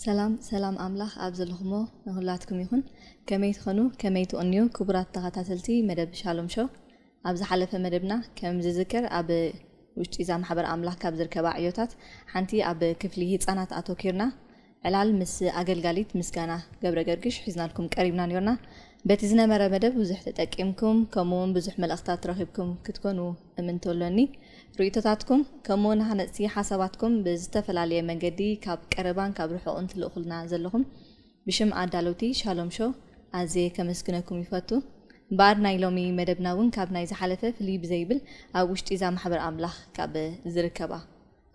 ሰላም ሰላም ኣምላኽ ኣብ ዘለኹሞ ንኹላትኩም ይኹን። ከመይ ትኾኑ? ከመይ ትቕንዩ? ክቡራት ተኸታተልቲ መደብ ሻሎም ሾው፣ ኣብ ዝሓለፈ መደብና ከም ዝዝከር ኣብ ውሽጢ እዛ ማሕበር ኣምላኽ ካብ ዝርከባ ዕዮታት ሓንቲ ኣብ ክፍሊ ህፃናት ኣተኪርና ዕላል ምስ ኣገልጋሊት ምስጋና ገብረ ገርግሽ ሒዝናልኩም ቀሪብና ነርና። በቲ ዝነበረ መደብ ብዙሕ ተጠቂምኩም፣ ከምኡ እውን ብዙሕ መልእኽታት ረኺብኩም ክትኮኑ እምንቶ ኣሎኒ። ርእይቶታትኩም ከምኡ እውን ሃነፅቲ ሓሳባትኩም ብዝተፈላለየ መንገዲ ካብ ቀረባን ካብ ርሑቕን ትልእኹልና ዘለኹም ብሽም ኣዳለውቲ ሻሎም ሾው ኣዝየ ከመስግነኩም ይፈቱ። እምበኣር ናይ ሎሚ መደብና እውን ካብ ናይ ዝሓለፈ ፍልይ ብዘይብል ኣብ ውሽጢ እዛ ማሕበር ኣምላኽ ካብ ዝርከባ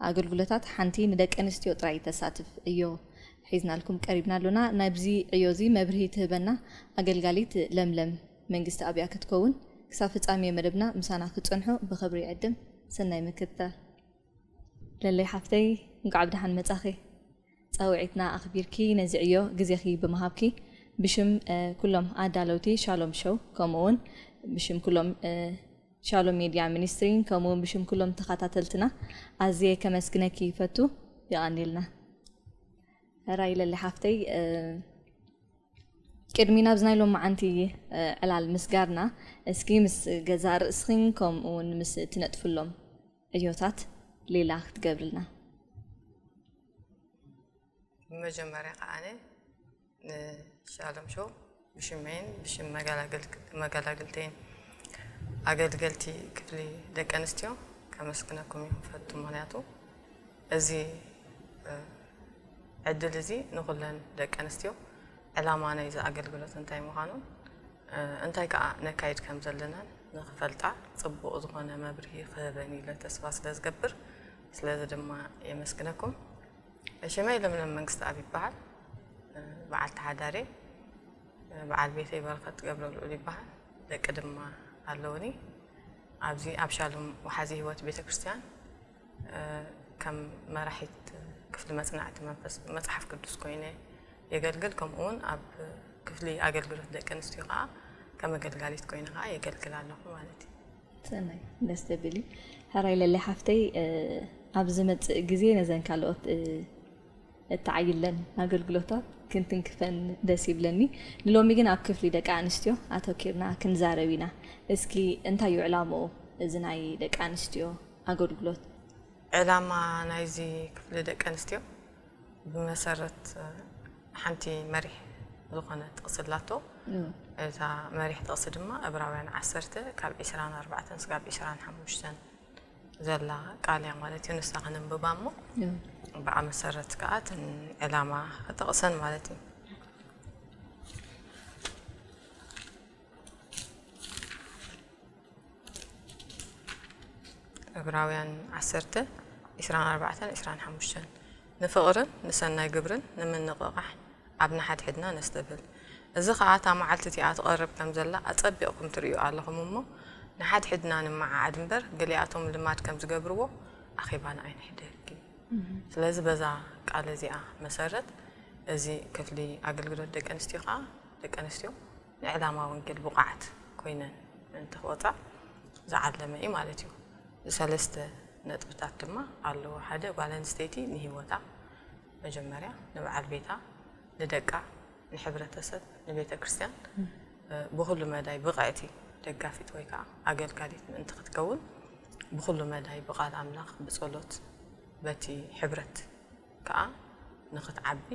ኣገልግሎታት ሓንቲ ንደቂ ኣንስትዮ ጥራይ ተሳትፍ ዕዮ ሒዝናልኩም ቀሪብና ኣሎና። ናብዚ ዕዮ እዚ መብርሂ ትህበና ኣገልጋሊት ለምለም መንግስቲ ኣብያ ክትከውን። ክሳብ ፍጻሜ መደብና ምሳና ክትጸንሑ ብኽብሪ ይዕድም። ሰናይ ምክትታል። ለለይ ሓፍተይ፣ እንቋዕ ብደሓን መጻኺ። ጻውዒትና ኣኽቢርኪ ነዚ ዕዮ ግዜኺ ብምሃብኪ ብሽም፣ እ፣ ኩሎም ኣዳለውቲ ሻሎም ሾው፣ ከምኡ እውን ብሽም ኩሎም፣ እ፣ ሻሎም ሜድያ ሚኒስትሪን ከምኡ እውን ብሽም ኩሎም ተኸታተልትና ኣዝየ ከመስግነኪ ይፈቱ። የቐንየልና። ሕራይ ለሊ ሓፍተይ፣ እ፣ ቅድሚ ናብዚ ናይ ሎማዓንቲ፣ እ፣ ዕላል ምስጋርና፣ እስኪ ምስ ገዛእ ርእስኺን ከምኡ እውን ምስ ትነጥፍሎም ዕዮታት ሌላ ክትገብርልና። ብመጀመርያ ከኣ ኣነ ንሻሎም ሾው ብሽመይን ብሽም መገላግል-፣ መገላግልተይን ኣገልገልቲ ክፍሊ ደቂ ኣንስትዮ ከመስግነኩም ይፈቱ። ምኽንያቱ እዚ፣ እ፣ ዕድል እዚ ንኹለን ደቂ ኣንስትዮ ዕላማ ናይዚ ኣገልግሎት እንታይ ምዃኑን፣ እ፣ እንታይ ከኣ ነካይድ ከም ዘለናን ንኽፈልጣ ጽቡቕ ዝኾነ መብርሂ ክህበን ኢለ ተስፋ ስለ ዝገብር፣ ስለዚ ድማ የመስግነኩም። ሽመይ ለምለም መንግስተኣብ ይበሃል። በዓልቲ ሓዳረይ በዓል ቤተይ በረኸት ገብረልዑል ይበሃል። ደቂ ድማ ኣለውኒ። ኣብዚ ኣብ ሻሎም ወሓዚ ህይወት ቤተ ክርስቲያን፣ እ፣ ከም መራሒት ክፍሊ መጽናዕቲ መንፈስ መጽሓፍ ቅዱስ ኮይነ የገልግል። ከምኡ እውን ኣብ ክፍሊ ኣገልግሎት ደቂ ኣንስትዮ ከኣ ከም ኣገልጋሊት ኮይነ ከኣ የገልግል ኣለኹ ማለት እዩ። ሰናይ፣ ደስ ዘብል እዩ። ሕራይ ለለይ ሓፍተይ፣ እ፣ ኣብ ዝመጽእ ግዜ ነዘን ካልኦት፣ እ፣ እተዓይለን ኣገልግሎታት ክንትንክፈን ደስ ይብለኒ። ንሎሚ ግን ኣብ ክፍሊ ደቂ ኣንስትዮ ኣተኪርና ክንዛረብ ኢና። እስኪ እንታይ እዩ ዕላምኡ እዚ ናይ ደቂ ኣንስትዮ ኣገልግሎት? ዕላማ ናይዚ ክፍሊ ደቂ ኣንስትዮ ብመሰረት፣ እ፣ ሓንቲ መሪሕ ዝኾነ ጥቕሲ ኣላቶ። እም። እታ መሪሕ ጥቕሲ ድማ ዕብራውያን ዓሰርተ ካብ ዒስራን ኣርባዕተን ስጋብ ዒስራን ሓሙሽተን ዘላ ቃል እያ ማለት እዩ። ንሳ ከነንብባ እሞ እም። ብኣ መሰረት ከኣ እተን ዕላማ ክጠቕሰን ማለት እዩ። ዕብራውያን ዓሰርተ፣ ዒስራን ኣርባዕተን ዒስራን ሓሙሽተን፣ ንፍቕርን ንሰናይ ግብርን ንምንቕቓሕ ኣብ ንሓድሕድና ነስተብህል። እዚ ኸኣ እታ መዓልቲ እቲኣ ትቐርብ ከም ዘላ ኣጸቢቕኩም ትርእዩ ኣለኹም እሞ፣ ንሓድሕድና ንመዓዓድ እምበር፣ ገሊኣቶም ልማድ ከም ዝገብርዎ ኣኼባና ኣይንሕደግ። እም። ስለዚ በዛ ቃል እዚኣ መሰረት፣ እዚ ክፍሊ ኣገልግሎት ደቂ ኣንስትዮ ኸኣ፣ ደቂ ኣንስትዮ ንዕላማ ወንጌል ብቑዓት ኮይነን ምእንቲ ክወጻ ዝዓለመ እዩ ማለት እዩ። ሰለስተ ነጥብታት ድማ ኣለዎ። ሓደ፣ ጓል ኣንስተይቲ ንህይወታ መጀመርያ፣ ንበዓል ቤታ፣ ንደቃ፣ ንሕብረተሰብ፣ ንቤተ ክርስቲያን፣ እ፣ ብኹሉ መዳይ ብቕዕቲ ደጋፊት ወይ ከዓ ኣገልጋሊት ምእንቲ ክትከውን፣ ብኹሉ መዳይ ብቃል ኣምላኽ፣ ብጸሎት፣ በቲ ሕብረት ከኣ ንኽትዓቢ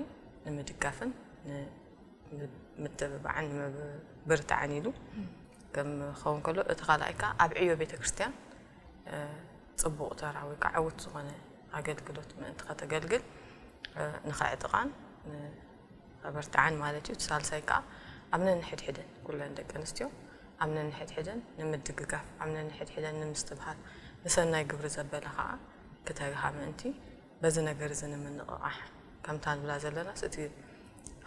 ንምድጋፍን ንምትብባዕን ንምብርታዕን ኢሉ ከም ክኸውን ከሎ፣ እቲ ካልኣይ ከኣ ኣብ ዕዮ ቤተ ክርስቲያን፣ እ፣ ጽቡቕ ተራ ወይ ከኣ ዕዉት ዝኾነ ኣገልግሎት ምእንቲ ከተገልግል፣ እ፣ ንኸዕጥቓን ንኸበርትዓን ማለት እዩ። እቲ ሳልሳይ ከኣ ኣብ ነንሕድሕደን፣ ኩለን ደቂ ኣንስትዮ ኣብ ነንሕድሕደን ንምድግጋፍ፣ ኣብ ነንሕድሕደን ንምስትብሃል፣ ንሰናይ ግብሪ ዘበለ ከኣ ክተግሃ ምእንቲ በዚ ነገር እዚ ንምንቕቓሕ፣ ከምታ ንብላ ዘለናስ፣ እቲ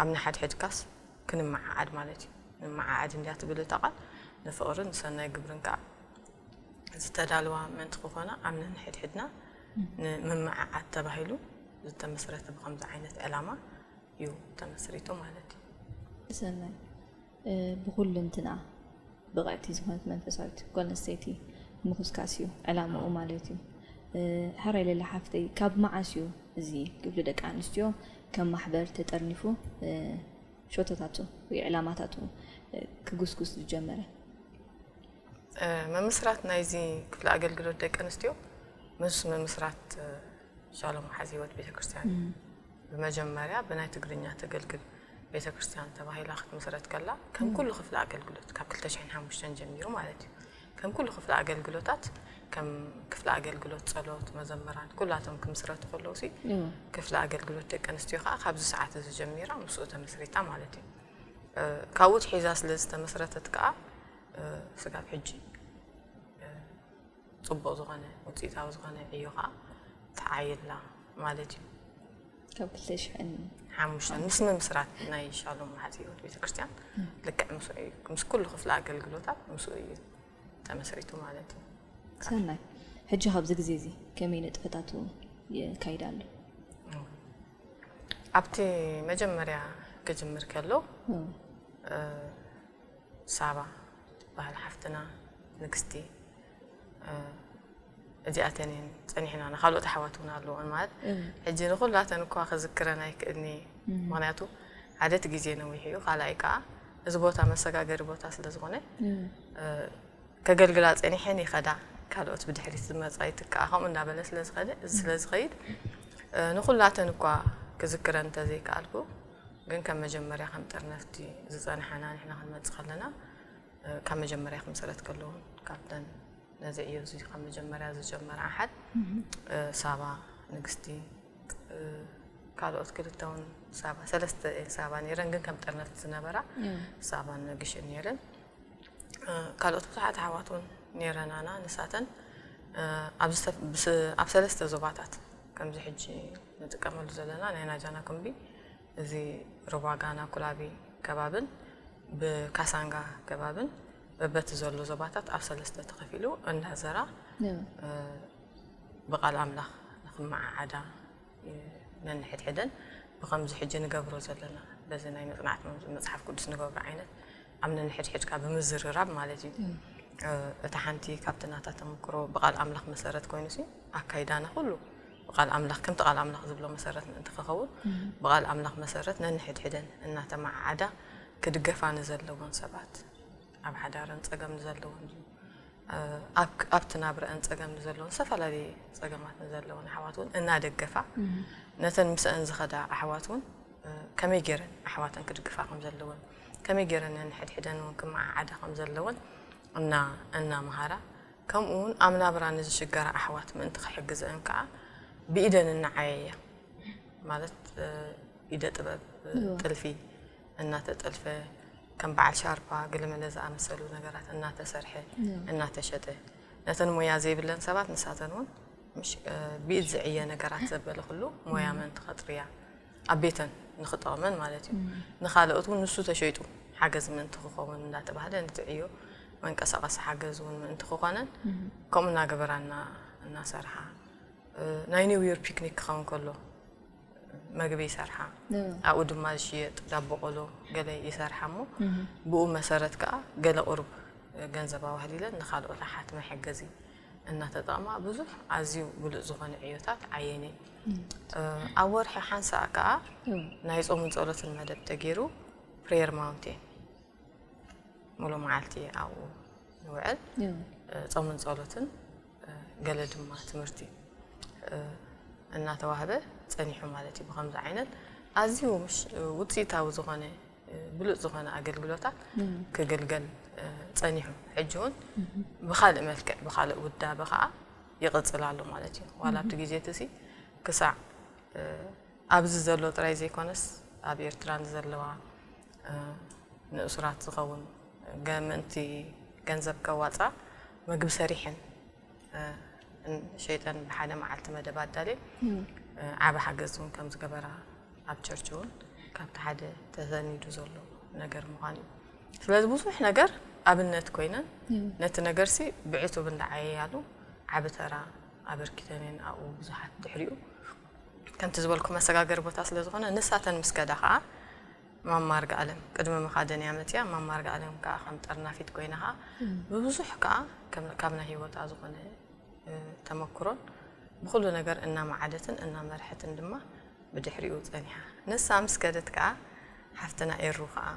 ኣብ ንሓድሕድካስ ክንመዓዓድ ማለት እዩ። ንመዓዓድ እንድያ ትብል እታ ቃል፣ ንፍቕርን ንሰናይ ግብርን ከኣ ዝተዳልዋ ምእንቲ ክኾና፣ ኣብ ነንሕድሕድና ንምምዕዓድ ተባሂሉ ዝተመስረተ ብኸምዚ ዓይነት ዕላማ እዩ ተመስሪቱ ማለት እዩ። ሰናይ። እ፣ ብኹልንትና ብቕዕቲ ዝኾነት መንፈሳዊት ጓል ኣንስተይቲ ምኹስካስ እዩ ዕላምኡ ማለት እዩ። እ፣ ሕራይ ለለ ሓፍተይ፣ ካብ መዓስ እዩ እዚ ክፍሊ ደቂ ኣንስትዮ ከም ማሕበር ተጠርኒፉ ሸቶታቱ ወይ ዕላማታቱ ክጉስጉስ ዝጀመረ? ምምስራት ናይዚ ክፍሊ ኣገልግሎት ደቂ ኣንስትዮ ምስ ምምስራት ሻሎም ሓዚ ህይወት ቤተክርስትያን ብመጀመርያ ብናይ ትግርኛ ተገልግል ቤተክርስትያን ተባሂላ ክትምስረት ከላ ከም ኩሉ ክፍሊ ኣገልግሎት ካብ ክልተ ሽሕን ሓሙሽተን ጀሚሩ ማለት እዩ። ከም ኩሉ ክፍሊ ኣገልግሎታት ከም ክፍሊ ኣገልግሎት ጸሎት፣ መዘምራን ኩላቶም ክምስረቱ ከለዉ ሲ ክፍሊ ኣገልግሎት ደቂ ኣንስትዮ ከዓ ካብዚ ሰዓት እዚ ጀሚራ ምስኡ ተመስሪታ ማለት እዩ። ካብኡ ትሒዛ ስለ ዝተመስረተት ከዓ ስጋብ ሕጂ ጽቡቕ ዝኾነ ውፅኢታዊ ዝኾነ ዕዮ ከዓ ተዓይላ ማለት እዩ። ካብ ክልተ ሽሕን ሓሙሽተን ምስ ምምስራት ናይ ሻሎም መሓዚ ህይወት ቤተክርስትያን ልክዕ ምስኡ እዩ ምስ ኩሉ ክፍሊ ኣገልግሎታት ምስኡ እዩ ተመስሪቱ ማለት እዩ። ሰናይ። ሕጂ ካብዚ ግዜ እዚ ከመይ ንጥፈታቱ የካይድ ኣሎ? ኣብቲ መጀመርያ ክጅምር ከሎ ሳባ ባህል ሓፍትና ንግስቲ እዚኣተን እየን ጸኒሕና ንካልኦት ኣሕዋት እውን ኣለዎን ማለት ሕጂ ንኩላተን እኳ ክዝክረን ኣይክእልኒ። ምክንያቱ ሓደቲ ግዜ ነዊሕ እዩ። ካልኣይ ከዓ እዚ ቦታ መሰጋገሪ ቦታ ስለ ዝኾነ ከገልግላ ጸኒሐን ይኸዳ፣ ካልኦት ብድሕሪት ዝመጻ ይትክኣ ከምኡ እንዳበለ ስለ ዝኸደ እዚ ስለ ዝኸይድ ንኩላተን እኳ ክዝክረን እንተዘይከኣልኩ ግን ከም መጀመርያ ከም ጠርነፍቲ ዝጸንሓና ንሕና ክንመጽእ ከለና ካብ መጀመርያ ክምስረት ከለውን ካብተን ነዚ ዕዮ እዚ ካብ መጀመርያ ዝጀመራ ኣሓት ሳባ ንግስቲ ካልኦት ክልተ እውን ሳባ ሰለስተ ሳባ ነይረን ግን ከም ጠርነፍቲ ዝነበራ ሳባን ነግሽን ነይረን። ካልኦት ብዙሓት ኣሕዋት እውን ነይረናና ንሳተን ኣብ ሰለስተ ዞባታት ከምዚ ሕጂ ንጥቀመሉ ዘለና ናይ ናጃና ኩምቢ እዚ ሩባ ጋና ኩላቢ ከባብን ብካሳንጋ ከባብን በበቲ ዘሎ ዞባታት ኣብ ሰለስተ ተኸፊሉ እንዳዘራ ብቓል ኣምላኽ ንኽመዓዓዳ ነንሕድሕደን ብኸምዚ ሕጂ ንገብሮ ዘለና በዚ ናይ መጽናዕቲ መጽሓፍ ቅዱስ ንገብሮ ዓይነት ኣብ ነንሕድሕድካ ብምዝርራብ ማለት እዩ። እታ ሓንቲ ካብቲ ናታ ተመክሮ ብቓል ኣምላኽ መሰረት ኮይኑ ሲ ኣካይዳና ኩሉ ብቓል ኣምላኽ ከምቲ ቃል ኣምላኽ ዝብሎ መሰረት ምእንቲ ክኸውን ብቓል ኣምላኽ መሰረት ነንሕድሕደን እናተመዓዓዳ ክድገፋ ንዘለዎን ሰባት ኣብ ሓዳረን ጸገም ንዘለዎን ኣብቲ ናብረአን ጸገም ንዘለዎን ዝተፈላለየ ጸገማት ንዘለዎን ኣሕዋት እውን እናደገፋ ነተን ምስአን ዝኸዳ ኣሕዋት እውን ከመይ ገይረን ኣሕዋተን ክድግፋ ከም ዘለወን ከመይ ገይረን ነንሕድሕደን እውን ክመዓዓዳ ከም ዘለወን እና እናምሃራ ከምኡ እውን ኣብ ናብራ ንዝሽገራ ኣሕዋት ምእንቲ ክሕግዘአን ከዓ ብኢደን እናዓየያ ማለት ኢደ ጥበብ ጥልፊ እናተጠልፈ ከም በዓል ሻርፓ ገለመለ ዝኣመሰሉ ነገራት እናተሰርሐ እናተሸጠ ነተን ሞያ ዘይብለን ሰባት ንሳተን እውን ብኢድ ዝዕየ ነገራት ዘበለ ኩሉ ሞያ ምእንቲ ከጥርያ ኣብ ቤተን ንኽጠቕመን ማለት እዩ። ንኻልኦት እውን ንሱ ተሸይጡ ሓገዝ ምእንቲ ክኸውን እንዳተባህለ ንትዕዮ መንቀሳቐሲ ሓገዝ እውን ምእንቲ ክኾነን ከምኡ እናገበራ እናሰርሓ ናይ ኒው ይር ፒክኒክ ክኸውን ከሎ መግቢ ይሰርሓ ኣብኡ ድማ ዝሽየጥ ዳቦ ቆሎ ገለ ይሰርሓ እሞ ብኡ መሰረት ከዓ ገለ ቁሩብ ገንዘብ ኣዋህሊለን ንካልኦት ኣሓት መሐገዚ እናተጠቕማ ብዙሕ ኣዝዩ ብሉፅ ዝኾነ ዕዮታት ዓየኒ ኣብ ወርሒ ሓንሳእ ከዓ ናይ ፆምን ፀሎትን መደብ ተገይሩ ፕሬየር ማውንቴን ሙሉ መዓልቲ ኣብኡ ንውዕል ጾምን ጸሎትን ገለ ድማ ትምህርቲ እናተዋህበ ጸኒሑ ማለት እዩ። ብከምዚ ዓይነት ኣዝዩ ውፅኢታዊ ዝኾነ ብሉፅ ዝኾነ ኣገልግሎታት ክግልገል ጸኒሑ። ሕጂ እውን ብካልእ መልክዕ ብካልእ ውዳበ ከዓ ይቕፅል ኣሎ ማለት እዩ። ዋላ ኣብቲ ግዜ እቲ ክሳዕ ኣብዚ ዘሎ ጥራይ ዘይኮነስ ኣብ ኤርትራ ንዘለዋ ንእሱራት ዝኸውን ምእንቲ ገንዘብ ከዋፃ ምግቢ ሰሪሐን ሸይጠን ብሓደ መዓልቲ መደብ ኣዳልየን ዓቢ ሓገዝ እውን ከም ዝገበራ ኣብ ቸርች እውን ካብቲ ሓደ ተሰኒዱ ዘሎ ነገር ምዃን እዩ። ስለዚ ብዙሕ ነገር ኣብነት ኮይነን ነቲ ነገርሲ ብዕቱብ እንዳዓየያሉ ዓቢ ተራ ኣበርኪተን እየን ኣብኡ ብዙሓት ድሕሪኡ ከምቲ ዝበልኩ መሰጋገሪ ቦታ ስለ ዝኾነ ንሳተን ምስ ከዳ ከዓ ማማ ኣርጋኣለም ቅድሚ ምኻደን እያ መፅያ ማማ ኣርጋኣለም ከዓ ከም ጠርናፊት ኮይና ከዓ ብብዙሕ ከዓ ካብ ናይ ሂወታ ዝኾነ ተመክሮን ብኩሉ ነገር እናመዓደትን እናመርሐትን ድማ ብድሕሪኡ ጸኒሓ። ንሳ ምስ ከደት ከኣ ሓፍትና ኤሩ ከኣ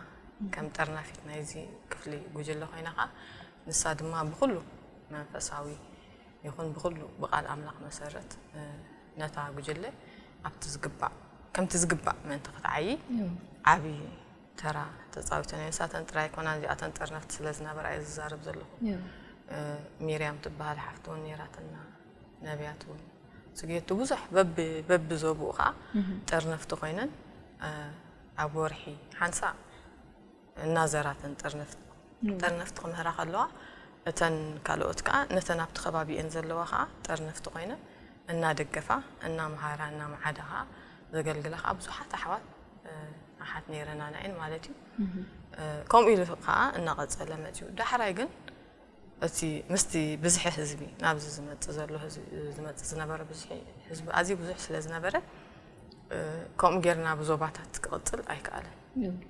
ከም ጠርናፊት ናይዚ ክፍሊ ጉጅለ ኮይና ከኣ ንሳ ድማ ብኹሉ መንፈሳዊ ይኹን ብኹሉ ብቃል ኣምላኽ መሰረት ነታ ጉጅለ ኣብቲ ዝግባእ ከምቲ ዝግባእ ምእንቲ ክትዓዪ ዓቢ ተራ ተጻዊተን እየን። ንሳተን ጥራይ ኣይኮናን እዚኣተን ጠርነፍቲ ስለ ዝነበራ እየ ዝዛረብ ዘለኹ። ሚርያም ትበሃል ሓፍቲ እውን ነይራትና፣ ነቢያት እውን ጽጌቱ ብዙሕ በቢ በቢ ዞብኡ ከዓ ጠርነፍቲ ኮይነን ኣብ ወርሒ ሓንሳእ እናዘራተን ጠርነፍቲ ጠርነፍቲ ክምህራ ከለዋ እተን ካልኦት ከዓ ነተን ኣብቲ ከባቢኤን ዘለዋ ከዓ ጠርነፍቲ ኮይነን እናደገፋ እናመሃራ እናመዓዳ ከዓ ዘገልግላ ከዓ ብዙሓት ኣሕዋት ኣሓት ነይረና ናየን ማለት እዩ። ከምኡ ኢሉ ከዓ እናቐጸለ መፅዩ። ዳሕራይ ግን እቲ ምስቲ ብዝሒ ህዝቢ ናብዚ ዝመፅእ ዘሎ ህዝቢ ዝመፅእ ዝነበረ ብዝሒ ህዝቢ ኣዝዩ ብዙሕ ስለ ዝነበረ ከምኡ ጌርና ብዞባታት ክቕፅል ኣይከኣለን።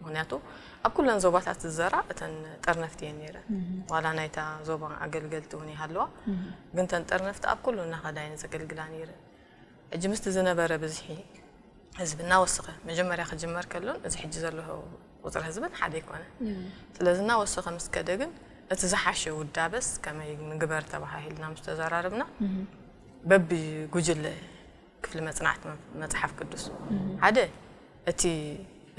ምክንያቱ ኣብ ኩለን ዞባታት ዝዘራ እተን ጠርነፍቲ እየን ነይረን። ዋላ ናይታ ዞባ ኣገልገልቲ እውን ይሃለዋ፣ ግን ተን ጠርነፍቲ ኣብ ኩሉ እናኸዳ እየን ዘገልግላ ነይረን። ሕጂ ምስቲ ዝነበረ ብዝሒ ህዝቢ እናወሰኸ መጀመርያ ክጅመር ከሎን እዚ ሕጂ ዘሎ ቁፅሪ ህዝብን ሓደ ኣይኮነ። ስለዚ እናወሰኸ ምስ ከደ ግን እቲ ዝሓሸ ውዳበስ ከመይ ንግበር ተባሃሂልና ምስ ተዘራረብና በቢ ጉጅለ ክፍሊ መፅናዕቲ መፅሓፍ ቅዱስ ሓደ እቲ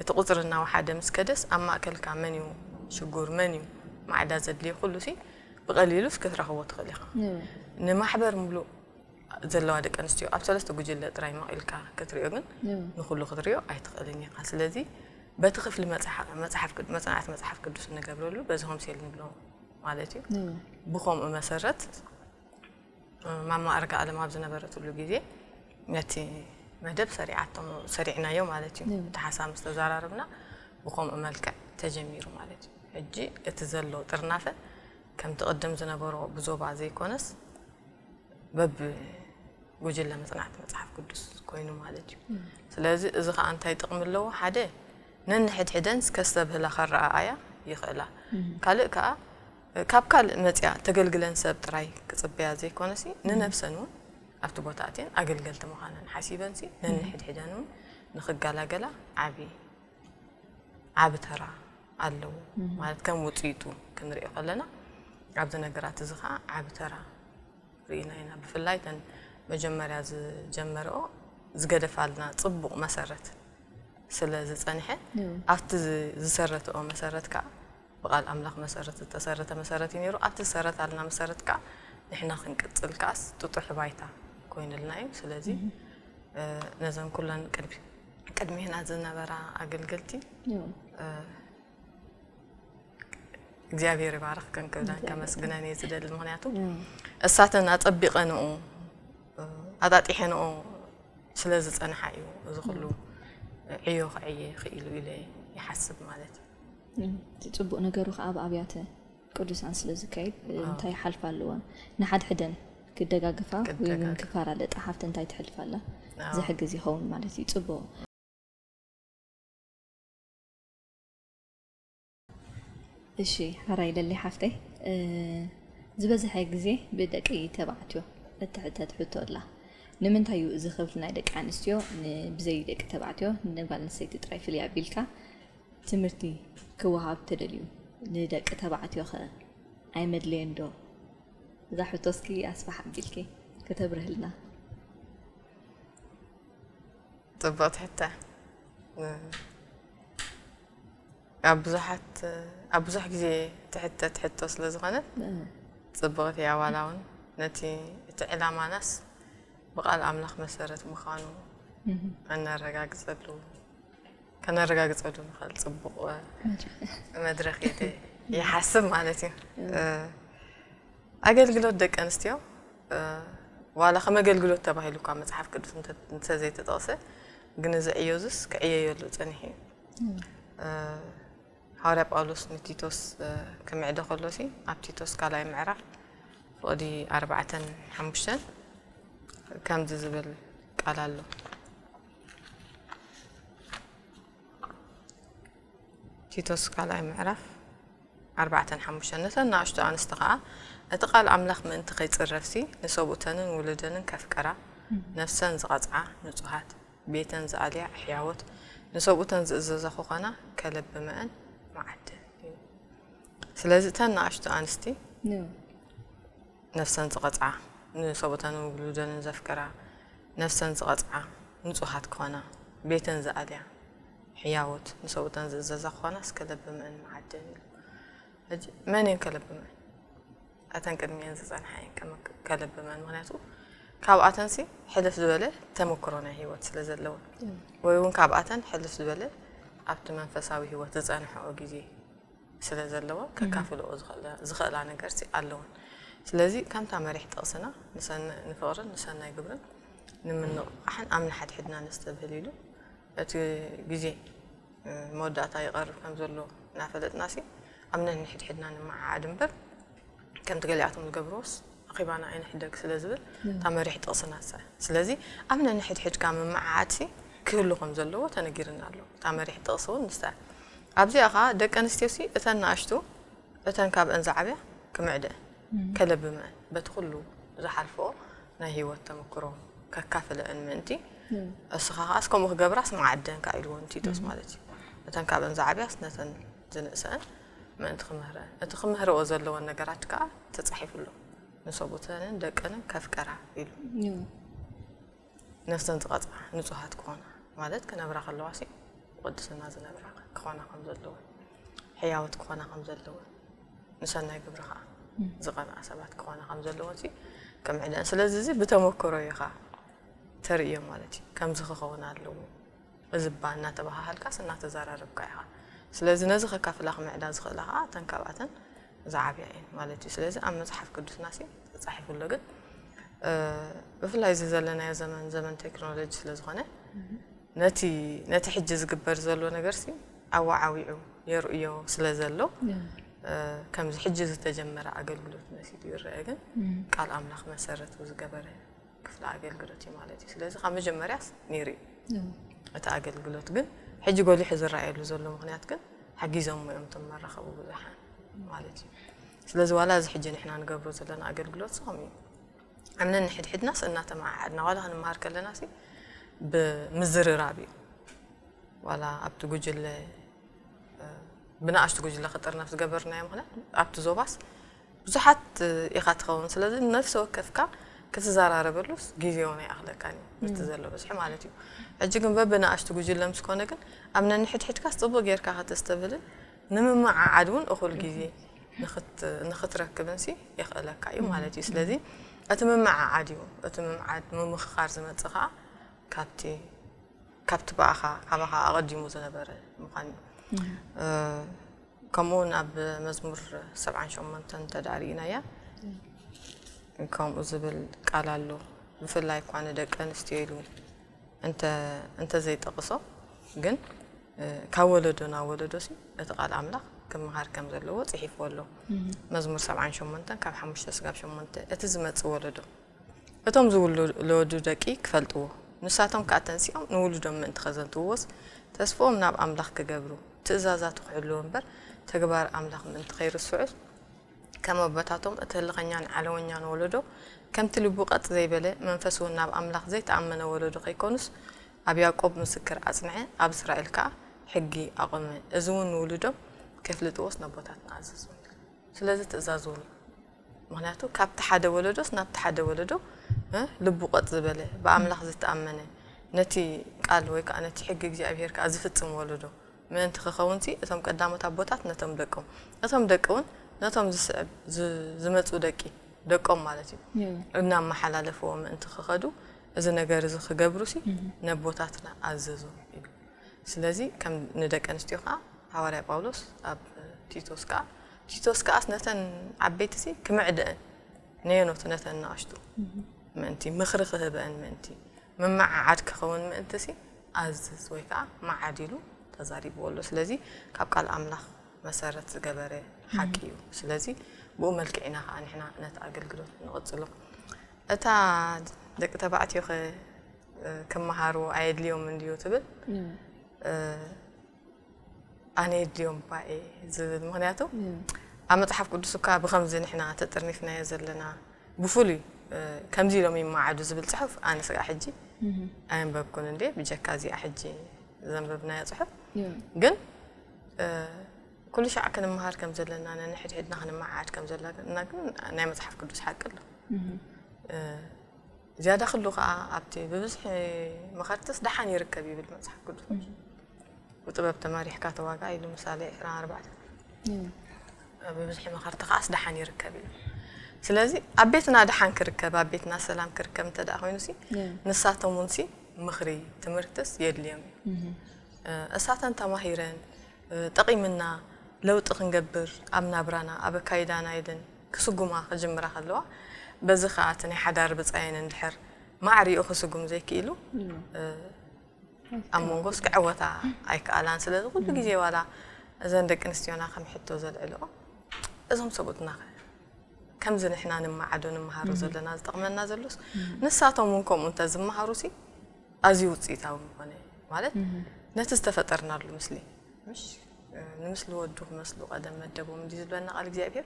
እቲ ቁፅሪ እናወሓደ ምስ ከደስ ኣብ ማእከልካ መን እዩ ሽጉር መን እዩ ማዕዳ ዘድልዮ ኩሉ ሲ ብቐሊሉስ ክትረኽቦ ትኽእል ኢኻ። ንማሕበር ምሉእ ዘለዋ ደቂ ኣንስትዮ ኣብ ሰለስተ ጉጅለ ጥራይ መቒልካ ክትሪኦ ግን ንኹሉ ክትሪኦ ኣይትኽእልን ኢኻ። ስለዚ በቲ ክፍሊ መፅሓፍ መፅናዕቲ መፅሓፍ ቅዱስ እንገብረሉ በዚ ሆምሴል ንብሎ ማለት እዩ። ብኸምኡ መሰረት ማማ ኣርጋ ኣለም ኣብ ዝነበረትሉ ግዜ ነቲ መደብ ሰሪዓቶ ሰሪዕናዮ ማለት እዩ። እቲ ሓሳብ ምስ ተዘራረብና ብኸምኡ መልክዕ ተጀሚሩ ማለት እዩ። ሕጂ እቲ ዘሎ ጥርናፈ ከምቲ ቅድም ዝነበሮ ብዞባ ዘይኮነስ በብ ጉጅለ መፅናዕቲ መፅሓፍ ቅዱስ ኮይኑ ማለት እዩ። ስለዚ እዚ ከዓ እንታይ ጥቕሚ ኣለዎ? ሓደ ነንሕድሕደን ከስተብህላ ከረኣኣያ ይኽእላ። ካልእ ከዓ ካብ ካልእ መፅያ ተገልግለን ሰብ ጥራይ ክፅበያ ዘይኮነሲ ንነብሰን እውን ኣብቲ ቦታ ኣትየን ኣገልገልቲ ምዃነን ሓሲበንሲ ነንሕድሕደን እውን ንክገላገላ ዓቢ ዓቢ ተራ ኣለዎ። ማለት ከም ውፅኢቱ ክንሪኦ ከለና ኣብዚ ነገራት እዚ ከዓ ዓቢ ተራ ርኢና ኢና። ብፍላይ ተን መጀመርያ ዝጀመረኦ ዝገደፋልና ፅቡቕ መሰረት ስለ ዝፀንሐ ኣብቲ ዝሰረተኦ መሰረት ከዓ ብቃል ኣምላኽ መሰረት ዝተሰረተ መሰረት እዩ ነይሩ። ኣብቲ ዝሰረታልና መሰረት ከዓ ንሕና ክንቅፅል ከዓስ ጥጡሕ ባይታ ኮይንልና እዩ። ስለዚ ነዘን ኩለን ቅድሚህና ዝነበራ ኣገልገልቲ እግዚኣብሔር ይባርኽክን ክብለን ከመስግነን እየ ዝደሊ። ምክንያቱ እሳተን ኣፀቢቐንኡ ኣጣጢሐንኦ ስለ ዝፀንሓ እዩ እዚ ኩሉ ዕዮ ክዕየ ክኢሉ ኢለ ይሓስብ ማለት እዩ። እቲ ፅቡቅ ነገሩ ከዓ ኣብ ኣብያተ ቅዱሳን ስለ ዝካየድ እንታይ ሓልፋ ኣለዎን ንሓድሕደን ክደጋግፋ ወይ እውን ክፋራለጣ ሓፍቲ እንታይ ትሕልፍ ኣላ ዝሕግዝ ይኸውን ማለት እዩ። ፅቡቅ። እሺ ሓራይ ለሊ ሓፍተይ ዝበዝሐ ግዜ ብደቂ ተባዕትዮ እትሕተት ሕቶ ኣላ። ንምንታይ እዩ እዚ ክፍሊ ናይ ደቂ ኣንስትዮ ብዘይ ደቂ ተባዕትዮ ንጓል ኣንስተይቲ ጥራይ ፍልይ ኣቢልካ ትምህርቲ ክወሃብ ተደልዩ? ንደቂ ተባዕትዮ ከ ኣይመድለየን ዶ? እዛ ሕቶ እስኪ ኣስፋሕ ኣቢልኪ ከተብርህልና። ፅብቕቲ ሕቶ ኣብ ብዙሓት ኣብ ብዙሕ ግዜ ትሕተት ሕቶ ስለ ዝኾነት ፅብቕቲ እያ። ዋላ እውን ነቲ እቲ ዕላማናስ ብቃል ኣምላኽ መሰረት ምዃኑ ከነረጋግፀሉ ከነረጋግፀሉ ንኽእል ፅቡቕ መድረኽ እዩ ይሓስብ ማለት እዩ። ኣገልግሎት ደቂ ኣንስትዮ ዋላ ከም ኣገልግሎት ተባሂሉ እኳ መፅሓፍ ቅዱስ እንተዘይተጠቕሰ ግን እዚ ዕዮ እዙስ ክዕየየሉ ፀኒሑ እዩ። ሃዋርያ ጳውሎስ ንቲቶስ ክምዕዶ ከሎ ሲ ኣብ ቲቶስ ካልኣይ ምዕራፍ ፍቕዲ ኣርባዕተን ሓሙሽተን ከምዚ ዝብል ቃል ኣሎ። ቲቶስ ካልኣይ ምዕራፍ ኣርባዕተን ሓሙሽተን ነተን ንኣሽቱ ኣንስቲ ኸዓ እቲ ቃል ኣምላኽ ምእንቲ ኸይጽረፍሲ ንሰብኡተንን ውሉደንን ከፍቅራ ነፍሰን ዝቐጽዓ ንጹሃት ቤተን ዝኣልያ ሕያዎት ንሰብኡተን ዝእዘዛ ክኾና ከለብመአን መዓደን እዩ። ስለዚ እተን ንኣሽቱ ኣንስቲ ነፍሰን ዝቐጽዓ፣ ንሰብኡተንን ውሉደንን ዘፍቅራ፣ ነፍሰን ዝቐጽዓ ንጹሃት ክኾና፣ ቤተን ዝኣልያ ሕያዎት ንሰብኡተን ዝእዘዛ ክኾና እስከ ለብመን መዓደን ኢሉ። ሕጂ መን እየን ከለብመን? እተን ቅድሚኤን ዝጸንሓ እየን ከመክ-፣ ከለብመን። ምኽንያቱ ካብኣተንሲ ሕልፍ ዝበለ ተመክሮ ናይ ህይወት ስለ ዘለወን፣ ወይ እውን ካብኣተን ሕልፍ ዝበለ ኣብቲ መንፈሳዊ ህይወት ዝጸንሕኦ ግዜ ስለ ዘለወን፣ ከካፍልኦ ዝኽእላ፣ ዝኽእላ ነገርሲ ኣለወን። ስለዚ ከምታ መሪሕ ጥቕስና ንሰን-፣ ንፍቕርን ንሰናይ ግብርን ንምንቕቓሕን ኣብ ንሓድሕድና ነስተብህል ኢሉ፣ እቲ ግዜ፣ እ፣ መወዳእታ ይቐርብ ከም ዘሎ እናፈለጥናሲ ኣብ ነንሕድሕድና ንመዓዓድ እምበር፣ ከምቲ ገሊኣቶም ዝገብርዎስ ኣኼባና ኣይንሕደግ ስለ ዝብል እታ መሪሕ ጥቕስና ትስዕር። ስለዚ ኣብ ነንሕድሕድካ ምምዕዓድሲ ክህሉ ከም ዘለዎ ተነጊርና ኣሎ። እታ መሪሕ ጥቕሲ እውን ንሳ እያ። ኣብዚኣ ኸኣ ደቂ ኣንስትዮሲ እተን ንኣሽቱ እተን ካብአን ዝዓብያ ክምዕደአን፣ ከለብመአን፣ በቲ ኩሉ ዝሓልፈኦ ናይ ህይወት ተመክሮ ከካፍለአን ምእንቲ፣ እስኻ ኸኣስ ከምኡ ክገብራስ መዓደንካ ኢልዎ ንቲቶስ ማለት እዩ። እተን ካብአን ዝዓብያስ ነተን ዝንእሰአን ምእንቲ ክምህረን፣ እቲ ክምህርኦ ዘለወን ነገራት ከኣ ተጻሒፉ ኣሎ። ንሰብኡተንን ደቀንን ከፍቀራ ኢሉ። ነፍሰን ዝቐጽዓ ንጹሃት ክኾና፣ ማለት ክነብራ ከለዋሲ ብቕድስና ዝነብራ ክኾና ከም ዘለወን፣ ሕያዎት ክኾና ከም ዘለወን፣ ንሰናይ ግብሪ ኸኣ ዝቐንኣ ሰባት ክኾና ከም ዘለወንሲ ክምዕደን። ስለዚ እዚ ብተመክሮ ኢኻ ተርእዮ ማለት እዩ። ከምዚ ክኸውን ኣለዎ። እዚ እባ እናተባሃሃልካስ እናተዘራረብካ ኢኻ። ስለዚ ነዚ ከካፍላ ክምዕዳ ዝኽእላ ኸኣ እተን ካብኣተን ዝዓብያ እየን ማለት እዩ። ስለዚ ኣብ መጽሓፍ ቅዱስናሲ ተጻሒፉ ኣሎ፣ ግን፣ እ፣ ብፍላይ እዚ ዘለናዮ ዘመን፣ ዘመን ቴክኖሎጂ ስለ ዝኾነ፣ ነቲ፣ ነቲ ሕጂ ዝግበር ዘሎ ነገርሲ ኣወዓዊዑ የርእዮ ስለ ዘሎ፣ እ፣ ከምዚ ሕጂ ዝተጀመረ ኣገልግሎት መሲሉ ይረአ፣ ግን ቃል ኣምላኽ መሰረቱ ዝገበረ ክፍሊ ኣገልግሎት እዩ ማለት እዩ። ስለዚ ካብ መጀመርያስ ነይሩ እዩ እቲ ኣገልግሎት፣ ግን ሕጂ ጎሊሑ ዝረኣየሉ ዘሎ ምኽንያት ግን ሓጊዞምዎ እዮም እቶም መራኸቢ ብዙሓን ማለት እዩ። ስለዚ ዋላ እዚ ሕጂ ንሕና ንገብሮ ዘለና ኣገልግሎት ከምኡ እዩ። ኣብ ነንሕድሕድናስ እናተመዓዓድና ዋላ ክንመሃር ከለናሲ ብምዝርራብ እዩ። ዋላ ኣብቲ ጉጅለ፣ እ፣ ብንኣሽቱ ጉጅለ ክጥርነፍ ዝገበርናዮ ምኽንያት ኣብቲ ዞባስ ብዙሓት፣ እ፣ ኢኻ ትኸውን። ስለዚ ነፍሲ ወከፍካ ክትዘራረበሉስ ግዜ እውን ኣይኣኽለካን እዩ፣ ምስቲ ዘሎ ብዝሒ ማለት እዩ። ሕጂ ግን በብንኣሽቱ ጉጅለ ምስ ኮነ ግን ኣብ ነንሕድሕድካስ ጽቡቕ ጌርካ ከተስተብህልን ንምምዕዓድ እውን እኹል ግዜ ንኽት-፣ ንኽትረክብንሲ የኽእለካ እዩ ማለት እዩ። ስለዚ እቲ ምምዕዓድ እዩ፣ እቲ ምምዓድ ምምኽኻር ዝመጽእ ኸኣ ካብቲ ካብቲ ብኣኻ፣ ካባኻ ኣቐዲሙ ዝነበረ ምዃን እዩ። እ፣ ከምኡ እውን ኣብ መዝሙር ሰብዓን ሸሞንተን እንተ ደኣ ርኢናያ፣ ከምኡ ዝብል ቃል ኣሎ። ብፍላይ እኳ ንደቂ ኣንስትዮ ኢሉ እንተ፣ እንተ ዘይጠቕሶ፣ ግን፣ እ፣ ካብ ወለዶ ናብ ወለዶሲ እቲ ቃል ኣምላኽ ክመሃር ከም ዘለዎ ጽሒፍዎ ኣሎ። መዝሙር ሰብዓን ሸሞንተን ካብ ሓሙሽተ ስጋብ ሸሞንተ፣ እቲ ዝመጽእ ወለዶ እቶም ዝውለዱ ደቂ ክፈልጥዎ፣ ንሳቶም ከኣ ተንሲኦም ንውሉዶም ምእንቲ ኸዘንትውዎስ፣ ተስፍኦም ናብ ኣምላኽ ክገብሩ፣ ትእዛዛቱ ክሕልዉ እምበር፣ ተግባር ኣምላኽ ምእንቲ ኸይርስዑስ፣ ከም ኣቦታቶም እቲ ህልኸኛን ዓለወኛን ወለዶ፣ ከምቲ ልቡ ቀጥ ዘይበለ፣ መንፈሱ እውን ናብ ኣምላኽ ዘይተኣመነ ወለዶ ኸይኮኑስ፣ ኣብ ያዕቆብ ምስክር ኣጽንዐ፣ ኣብ እስራኤል ከኣ ሕጊ ኣቖመ። እዚ እውን ንውሉዶም ኬፍልጥዎስ ነቦታትና ኣዘዞም። ስለዚ ትእዛዝ እውን እዩ። ምኽንያቱ ካብቲ ሓደ ወለዶስ ናብቲ ሓደ ወለዶ፣ እ፣ ልቡ ቀጥ ዝበለ፣ ብኣምላኽ ዝተኣመነ፣ ነቲ ቃል ወይ ከኣ ነቲ ሕጊ እግዚኣብሄር ከኣ ዝፍጽም ወለዶ ምእንቲ ክኸውንሲ፣ እቶም ቀዳሞት ኣቦታት ነቶም ደቆም፣ እቶም ደቂ እውን ነቶም ዝስዕብ፣ ዝ-፣ ዝመጹ ደቂ፣ ደቆም ማለት እዩ፣ እም። እናመሓላለፍዎ ምእንቲ ክኸዱ፣ እዚ ነገር እዚ ክገብሩሲ፣ እም። ነቦታትና ኣዘዞም ኢሉ። ስለዚ ከም ንደቂ ኣንስትዮ ከኣ ሃዋርያ ጳውሎስ ኣብ ቲቶስ ከኣ፣ ቲቶስ ከኣስ ነተን ዓበይትሲ ክምዕደአን፣ ነየኖት ነተን ንኣሽቱ እም። ምእንቲ፣ ምኽሪ ክህበአን ምእንቲ፣ ምምዓዓድ ክኸውን ምእንትሲ ኣዝዝ ወይ ከኣ መዓድ ኢሉ ተዛሪብዎ ኣሎ። ስለዚ ካብ ቃል ኣምላኽ መሰረት ዝገበረ ሓቂ እም። እዩ። ስለዚ ብኡ መልክዕ ኢና ከኣ ንሕና ነቲ ኣገልግሎት ንቕጽሎ። እታ ደቂ ተባዕትዮ ኸ፣ እ፣ ክመሃሩ ኣየድልዮም እንድዩ ትብል? እም። እ፣ ኣነ የድልዮም እባ እየ ዝብል። ምኽንያቱ እም። ኣብ መጽሓፍ ቅዱስ እኳ ብኸምዚ ንሕና ተጠርኒፍናዮ ዘለና ብፍሉይ፣ እ፣ ከምዚ ኢሎም ይመዓዱ ዝብል ጽሑፍ ኣነ ስጋዕ ሕጂ ኣየንበብኩን እንዴ ብጀካ እዚኣ ሕጂ ዘንበብናዮ ጽሑፍ ግን ኩሉ ሻዕ ክንመሃር ከም ዘለና ነንሕድሕድና ክንመዓድ ከም ዘለና ግን ናይ መጽሓፍ ቅዱስ ሓቂ ኣሎ። ዝያዳ ክሉ ከዓ ኣብቲ ብብዝሒ መኸርትስ ደሓን ይርከብ ይብል መጽሓፍ ቅዱስ። ብጥበብ ተማሪሕካ ተዋጋ ኢሉ ምሳሌ ዕስራን ኣርባዕተን። ብብዝሒ መኸርቲ ከዓስ ደሓን ይርከብ እዩ። ስለዚ ኣብ ቤትና ደሓን ክርከብ ኣብ ቤትና ሰላም ክርከብ እንተ ደኣ ኮይኑ ሲ ንሳቶም እውን ሲ ምኽሪ ትምህርትስ የድልዮም እዩ። እሳተን ተማሂረን ጠቒምና ለውጢ ክንገብር ኣብ ናብራና ኣብ ኣካይዳና ኢለን ክስጉማ ክጅምራ ከለዋ በዚ ከዓ እቲ ናይ ሓዳር ብፃየን እንድሕር ማዕሪኡ ክስጉም ዘይክኢሉ ኣብ መንጎስ ክዕወታ ኣይከኣላን። ስለዚ ኩሉ ግዜ ዋላ እዘን ደቂ ኣንስትዮና ከም ሕቶ ዘልዕልኦ እዞም ሰብኡትና ከምዚ ንሕና ንመዓዶ ንመሃሮ ዘለና ዝጠቕመና ዘሎስ ንሳቶም እውን ከምኡ እንተ ዝመሃሩ ሲ ኣዝዩ ውፅኢታዊ ምኾነ ማለት ነቲ ዝተፈጠርናሉ ምስሊ ምሽ ንምስሊ ወዱ ክመስሉ ቀደም መደቦም እንዲ ዝብለና ቃል እግዚኣብሔር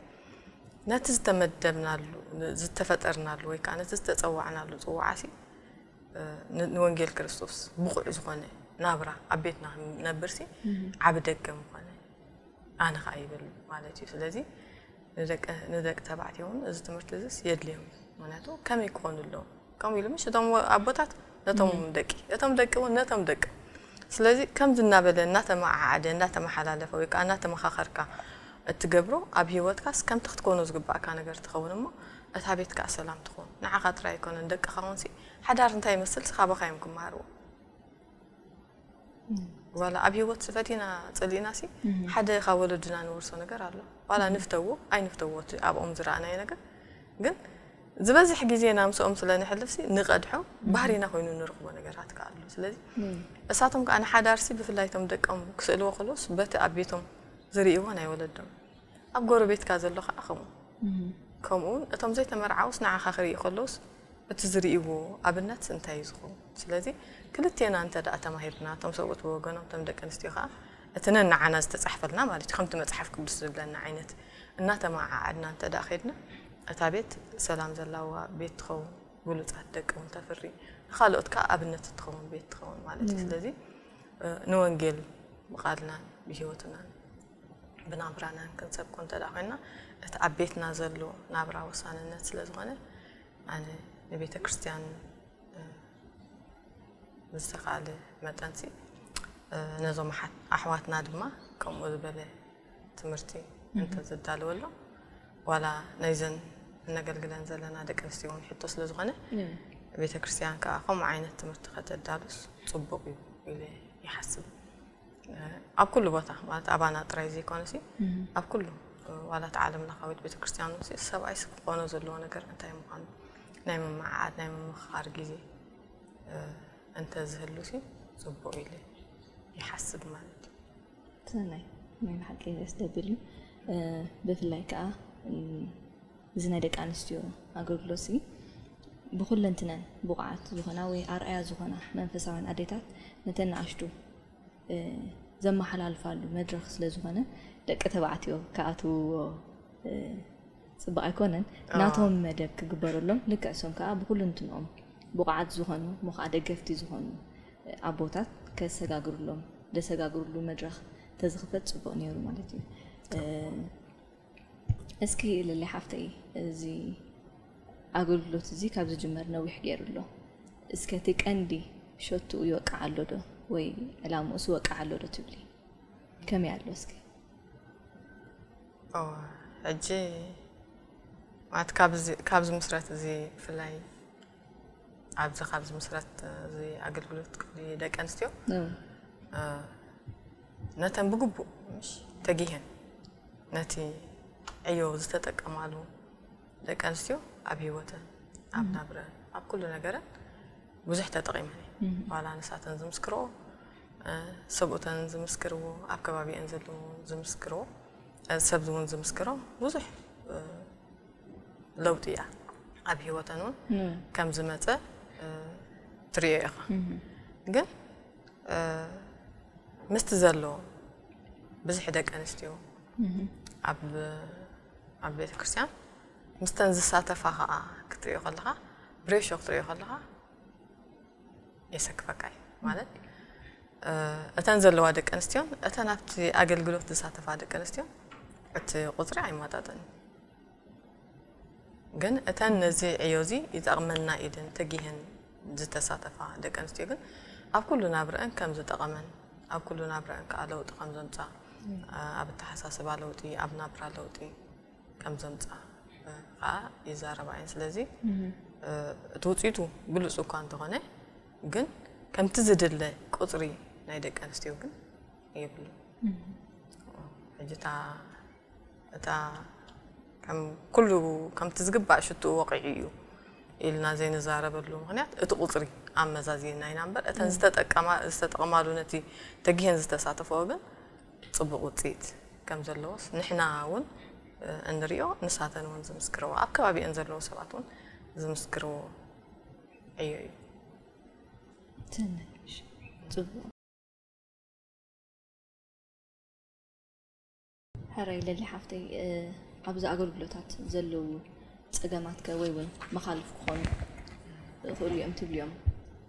ነቲ ዝተመደብናሉ ዝተፈጠርናሉ ወይ ከዓ ነቲ ዝተፀዋዕናሉ ፅዋዓ ሲ ንወንጌል ክርስቶስ ብቑዕ ዝኾነ ናብራ ኣብ ቤትና ክንነብር ሲ ዓቢ ደገ ምኾነ ኣነ ከዓ ይብል ማለት እዩ። ስለዚ ንደቂ ተባዕትዮ እውን እዚ ትምህርቲ እዚስ የድልዮም እዩ። ምክንያቱ ከመይ ክኾኑ ኣለዎም ከምኡ ኢሉ ምሽ እቶም ኣቦታት ነቶም ደቂ እቶም ደቂ እውን ነቶም ደቂ ስለዚ ከምዚ እናበለ እናተመዓዓደ እናተመሓላለፈ ወይ ከዓ እናተመኻኸርካ እትገብሮ ኣብ ህይወትካስ ከምቲ ክትኮኖ ዝግባእካ ነገር ትኸውን እሞ እታ ቤት ከዓ ሰላም ትኸውን። ንዓኻ ጥራይ ኣይኮነን ደቅኻ እውን ሲ ሓዳር እንታይ ይመስል ሲ ካባኻ እዮም ክመሃርዎ። ዋላ ኣብ ህይወት ፈቲና ጸሊእና ሲ ሓደ ካብ ወለድና ንወርሶ ነገር ኣሎ። ዋላ ንፍተዎ ኣይንፍተዎ እቲ ኣብኦም ዝረኣናዮ ነገር ግን ዝበዝሕ ግዜና ምስኦም ስለ ንሕልፍ ሲ ንቐድሖ ባህሪና ኮይኑ ንረኽቦ ነገራት ከኣ ኣሎ። ስለዚ እሳቶም ከኣ ንሓዳር ሲ ብፍላይ እቶም ደቆም ክስእልዎ ከለውስ በቲ ኣብ ቤቶም ዝርእይዎ ናይ ወለዶም ኣብ ጎረቤትካ ዘሎ ከኣ ከምኡ ከምኡ እውን እቶም ዘይተመርዓውስ ንዓኻ ክርኢ ከለውስ እቲ ዝርእይዎ ኣብነት እንታይ እዩ ዝኸውን? ስለዚ ክልቴና እንተ ደኣ ተማሂርና፣ እቶም ሰብኡት ብወገኖም፣ እቶም ደቂ ኣንስትዮ ከኣ እቲ ነንዓና ዝተጻሕፈልና ማለት እዩ፣ ከምቲ መጽሓፍ ቅዱስ ዝብለና ዓይነት እናተመዓዓድና እንተ ደኣ ኸይድና፣ እታ ቤት ሰላም ዘላዋ ቤት ትኸውን፣ ብሉጻት ደቂ እውን ተፍሪ፣ ንኻልኦት ከኣ ኣብነት እትኸውን ቤት ትኸውን ማለት እዩ። ስለዚ ንወንጌል ብቓልናን ብህይወትናን ብናብራናን ክንሰብኮ እንተ ደኣ ኮይና እቲ ኣብ ቤትና ዘሎ ናብራ ወሳንነት ስለ ዝኾነ ኣነ ንቤተ ክርስቲያን ብዝተኻለ መጠንሲ ነዞም ኣሕዋትና ድማ ከምኡ ዝበለ ትምህርቲ እንተዘዳለወሎም ዋላ ናይዘን እነገልግለን ዘለና ደቂ ኣንስትዮ እውን ሕቶ ስለ ዝኾነ ቤተ ክርስቲያን ከዓ ከምኡ ዓይነት ትምህርቲ ከተዳሉስ ፅቡቕ እዩ ኢለ ይሓስብ። ኣብ ኩሉ ቦታ ማለት ኣባና ጥራይ ዘይኮነሲ ኣብ ኩሉ ዋላ እቲ ዓለም ለኻዊት ቤተክርስትያን ሲ ሰብኣይስ ክኾኖ ዘለዎ ነገር እንታይ ምዃኑ ናይ ምምዓዓድ ናይ ምምኽኻር ግዜ እንተ ዝህሉ ሲ ፅቡቕ ኢለ ይሓስብ ማለት እዩ። ሰናይ ናይ ብሓቂ ደስ ደብል እዩ። ብፍላይ ከዓ እዚ ናይ ደቂ ኣንስትዮ ኣገልግሎት ሲ ብኩለንትነን ብቑዓት ዝኾና ወይ ኣርኣያ ዝኾና መንፈሳውያን ኣዴታት ነተን ንኣሽቱ ዘመሓላልፋሉ መድረኽ ስለ ዝኾነ ደቂ ተባዕትዮ ክኣትውዎ ፅቡቕ ኣይኮነን። ናቶም መደብ ክግበረሎም ልክዕ እሶም ከዓ ብኩልንትንኦም ብቑዓት ዝኾኑ እሞ ከዓ ደገፍቲ ዝኾኑ ኣቦታት ከሰጋግርሎም ደሰጋግርሉ መድረኽ ተዝኽፈት ፅቡቕ ነይሩ ማለት እዩ። እስኪ ልሊ ሓፍተይ እዚ ኣገልግሎት እዚ ካብ ዝጅመር ነዊሕ ገይሩ ኣሎ። እስከ እቲ ቀንዲ ሸትኡ ይወቅዕ ኣሎ ዶ ወይ ዕላምኡስ ይወቅዕ ኣሎ ዶ ትብሊ? ከመይ ኣሎ እስኪ? ሕጂ ማለት ካብ ዝምስረት እዚ ብፍላይ ኣብዚ ካብ ዝምስረት እዚ ኣገልግሎት ክፍሊ ደቂ ኣንስትዮ ነተን ብግቡእ ምሽ ተጊሀን ነቲ ዕዮ ዝተጠቀማሉ ደቂ ኣንስትዮ ኣብ ህይወተን ኣብ ናብረን ኣብ ኩሉ ነገረን ብዙሕ ተጠቒመን እየ። ዋላ ንሳተን ዝምስክርኦ ሰብኡተን ዝምስክርዎ ኣብ ከባቢአን ዘለዉ ዝምስክርዎ ሰብ እውን ዝምስክሮ ብዙሕ ለውጢ እያ ኣብ ህይወተን እውን ከም ዝመፀ ትሪኦ ኢኻ። ግን ምስቲ ዘሎ ብዝሒ ደቂ ኣንስትዮ ኣብ ኣብ ቤተ ክርስቲያን ምስተን ዝሳተፋ ከዓ ክትሪኦ ከለኻ ብሬሾ ክትሪኦ ከለኻ የሰክፈካ እዩ ማለት እተን ዘለዋ ደቂ ኣንስትዮን እተን ኣብቲ ኣገልግሎት ዝሳተፋ ደቂ ኣንስትዮን እቲ ቁፅሪ ኣይማጣጠን። ግን እተን ነዚ ዕዮ እዚ ይጠቕመና ኢለን ተጊህን ዝተሳተፋ ደቂ ኣንስትዮ ግን ኣብ ኩሉ ናብረአን ከም ዝጠቐመን ኣብ ኩሉ ናብረአን ከዓ ለውጢ ከም ዘምፃ ኣብ ኣተሓሳስባ ለውጢ ኣብ ናብራ ለውጢ ከም ዘምፃ ከዓ ይዛረባ እየን። ስለዚ እቲ ውፅኢቱ ብሉፅ እኳ እንተኾነ ግን ከምቲ ዝድለ ቁፅሪ ናይ ደቂ ኣንስትዮ ግን የብሉ። ሕጂ እታ እታ ከም ኩሉ ከምቲ ዝግባእ ሽትኡ ወቂዑ እዩ ኢልና ዘይንዛረበሉ ምክንያት እቲ ቁፅሪ ኣመዛዚና ኢና እምበር እተን ዝተጠቀማ ዝተጠቀማሉ ነቲ ተጊሄን ዝተሳተፈኦ ግን ፅቡቅ ውፅኢት ከም ዘለዎስ ንሕና እውን እንሪኦ ንሳተን እውን ዝምስክርዎ ኣብ ከባቢአን ዘለዉ ሰባት እውን ዝምስክርዎ ዕዮ እዩ። ትንሽ ጽቡቅ። ሕራይ ለሊ ሓፍተይ ኣብዚ ኣገልግሎታት ዘለዉ ጸገማትከ ወይ እውን መኻልፍ ክኾኑ ይኽእሉ እዮም ትብልዮም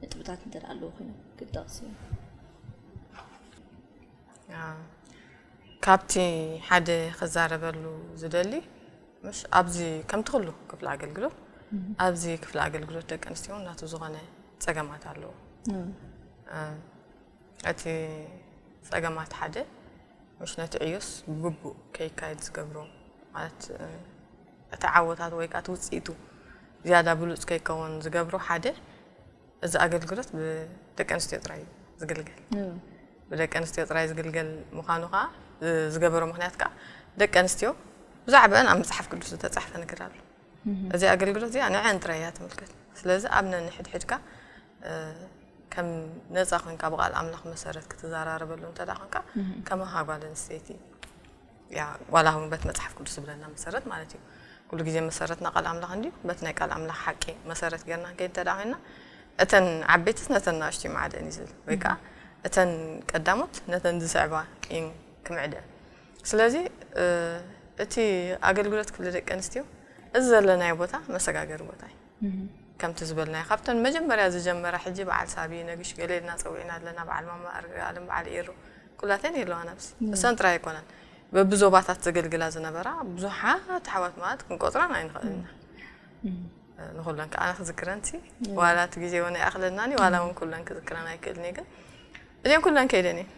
ንጥብታት እንተ ኣለዉ ኮይኖም ክትጠቕሲ እዮም። ካብቲ ሓደ ክዛረበሉ ዝደሊ ምሽ ኣብዚ ከምቲ ኩሉ ክፍሊ ኣገልግሎት ኣብዚ ክፍሊ ኣገልግሎት ደቂ ኣንስትዮ እውን ናቱ ዝኾነ ጸገማት ኣለዎ። እቲ ጸገማት ሓደ ምሽ ነቲ ዕዮስ ብግቡእ ከይካየድ ዝገብሮ ማለት እቲ ዓወታት ወይ ከዓ እቲ ውፅኢቱ ዝያዳ ብሉፅ ከይከውን ዝገብሮ ሓደ እዚ ኣገልግሎት ብደቂ ኣንስትዮ ጥራይ እዩ ዝግልገል። ብደቂ ኣንስትዮ ጥራይ ዝግልገል ምዃኑ ከዓ ዝገበሮ ምክንያት ከዓ ደቂ ኣንስትዮ ብዛዕባአን ኣብ መፅሓፍ ቅዱስ ዝተፃሕፈ ነገር ኣሎ። እዚ ኣገልግሎት እዚኣ ንዐን ጥራይ እያ ትምልከት። ስለዚ ኣብ ነንሕድሕድካ ከም ነፃ ኮንካ ብቃል ኣምላኽ መሰረት ክትዘራረበሉ እንተ ደኣ ኮንካ ከማኻ ጓል ኣንስተይቲ ያ ዋላ እውን በት መፅሓፍ ቅዱስ ዝብለና መሰረት ማለት እዩ። ኩሉ ግዜ መሰረትና ቃል ኣምላኽ እንድዩ። በት ናይ ቃል ኣምላኽ ሓቂ መሰረት ጌርና ንከይድ እንተ ደኣ ኮይንና እተን ዓበይትስ ነተን ናእሽቱ ይምዓደን እዩ ዝብል ወይ ከዓ እተን ቀዳሞት ነተን ዝስዕባ እየን ክምዕደን። ስለዚ እቲ ኣገልግሎት ክፍሊ ደቂ ኣንስትዮ እዚ ዘለናዮ ቦታ መሰጋገሪ ቦታ እዩ። ከምቲ ዝበልናዮ ካብተን መጀመርያ ዝጀመራ ሕጂ በዓል ሳቢ ነግሽ ገለ ኢልና ፀዊዕና ኣለና በዓል ማማ ኣርጋለም በዓል ኤሩ ኩላተን የለዋን ኣብዚ እሰን ጥራይ ኣይኮነን በብዞባታት ዘገልግላ ዝነበራ ብዙሓት ኣሕዋት ማለት ክንቆፅረን ኣይንኽእል ኢና ንኩለን ከዓ ኣነ ክዝክረን ሲ ዋላ እቲ ግዜ እውን ኣይኣኽለናን እዩ ዋላ እውን ኩለን ክዝክረን ኣይክእልን እየ ግን እዚአን ኩለን ከይደን እየን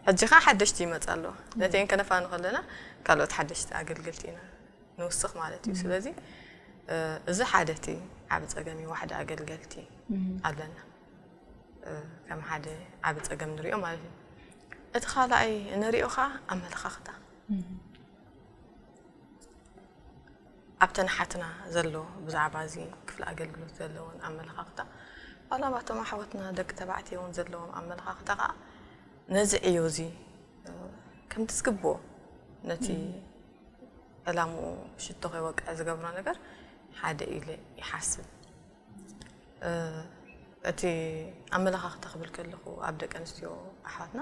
ሕጂ ከዓ ሓደሽቲ ይመፃ ኣለዋ ነተን ከነፋኑ ከለና ካልኦት ሓደሽቲ ኣገልገልቲ ኢና ንውስኽ ማለት እዩ ስለዚ እዚ ሓደ እቲ ዓብ ፀገም እዩ ዋሕዲ ኣገልገልቲ ኣለና ከም ሓደ ዓብ ፀገም ንሪኦ ማለት እዩ እቲ ካልኣይ ንሪኦ ከዓ ኣመለኻኽታ ኣብተን ሓትና ዘሎ ብዛዕባ እዚ ክፍሊ ኣገልግሎት ዘለዎን ኣመለኻኽታ ዋላ ባቶም ኣሕዋትና ደቂ ተባዕትዮ እውን ዘለዎም ኣመለኻኽታ ከዓ ነዚ ዕዮ እዚ ከምቲ ዝግብኦ ነቲ ዕላምኡ ሽቶ ከይወቅዕ ዝገብሮ ነገር ሓደ ኢለ ይሓስብ። እቲ ኣመለኻኽታ ክብል ከለኹ ኣብ ደቂ ኣንስትዮ ኣሕዋትና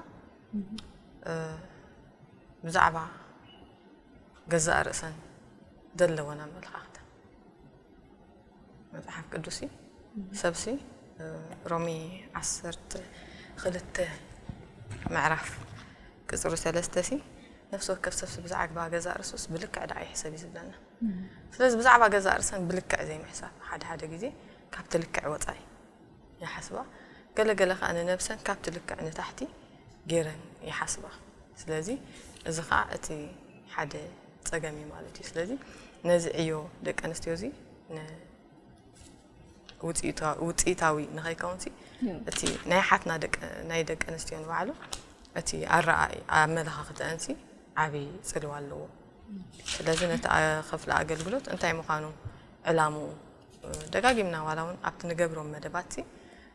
ብዛዕባ ገዛእ ርእሰን ዘለወን ኣመለኻኽታ መፅሓፍ ቅዱስ ሰብሲ ሮሚ ዓሰርተ ክልተ ምዕራፍ ቅፅሪ ሰለስተ ሲ ነፍሲ ወከፍ ሰብሲ ብዛዕባ ገዛእ ርእሱስ ብልክዕ ደኣ ይሕሰብ እዩ ዝብለና። ስለዚ ብዛዕባ ገዛእ ርእሰን ብልክዕ ዘይምሕሳብ ሓደ ሓደ ግዜ ካብቲ ልክዕ ወፃኢ ይሓስባ። ገለ ገለ ከዓ ንነብሰን ካብቲ ልክዕ ንታሕቲ ገይረን ይሓስባ። ስለዚ እዚ ከዓ እቲ ሓደ ፀገም እዩ ማለት እዩ። ስለዚ ነዚ ዕዮ ደቂ ኣንስትዮ እዚ ውፅኢታዊ ንኸይከውንሲ እቲ ናይ ሓትና ናይ ደቂ ኣንስትዮ ንባዕሉ እቲ ኣረኣይ ኣመለኻኽተአንሲ ዓብዪ ፅልዋ ኣለዎ። ስለዚ ነቲ ክፍሊ ኣገልግሎት እንታይ ምዃኑ ዕላምኡ ደጋጊምና ዋላ እውን ኣብቲ ንገብሮም መደባትሲ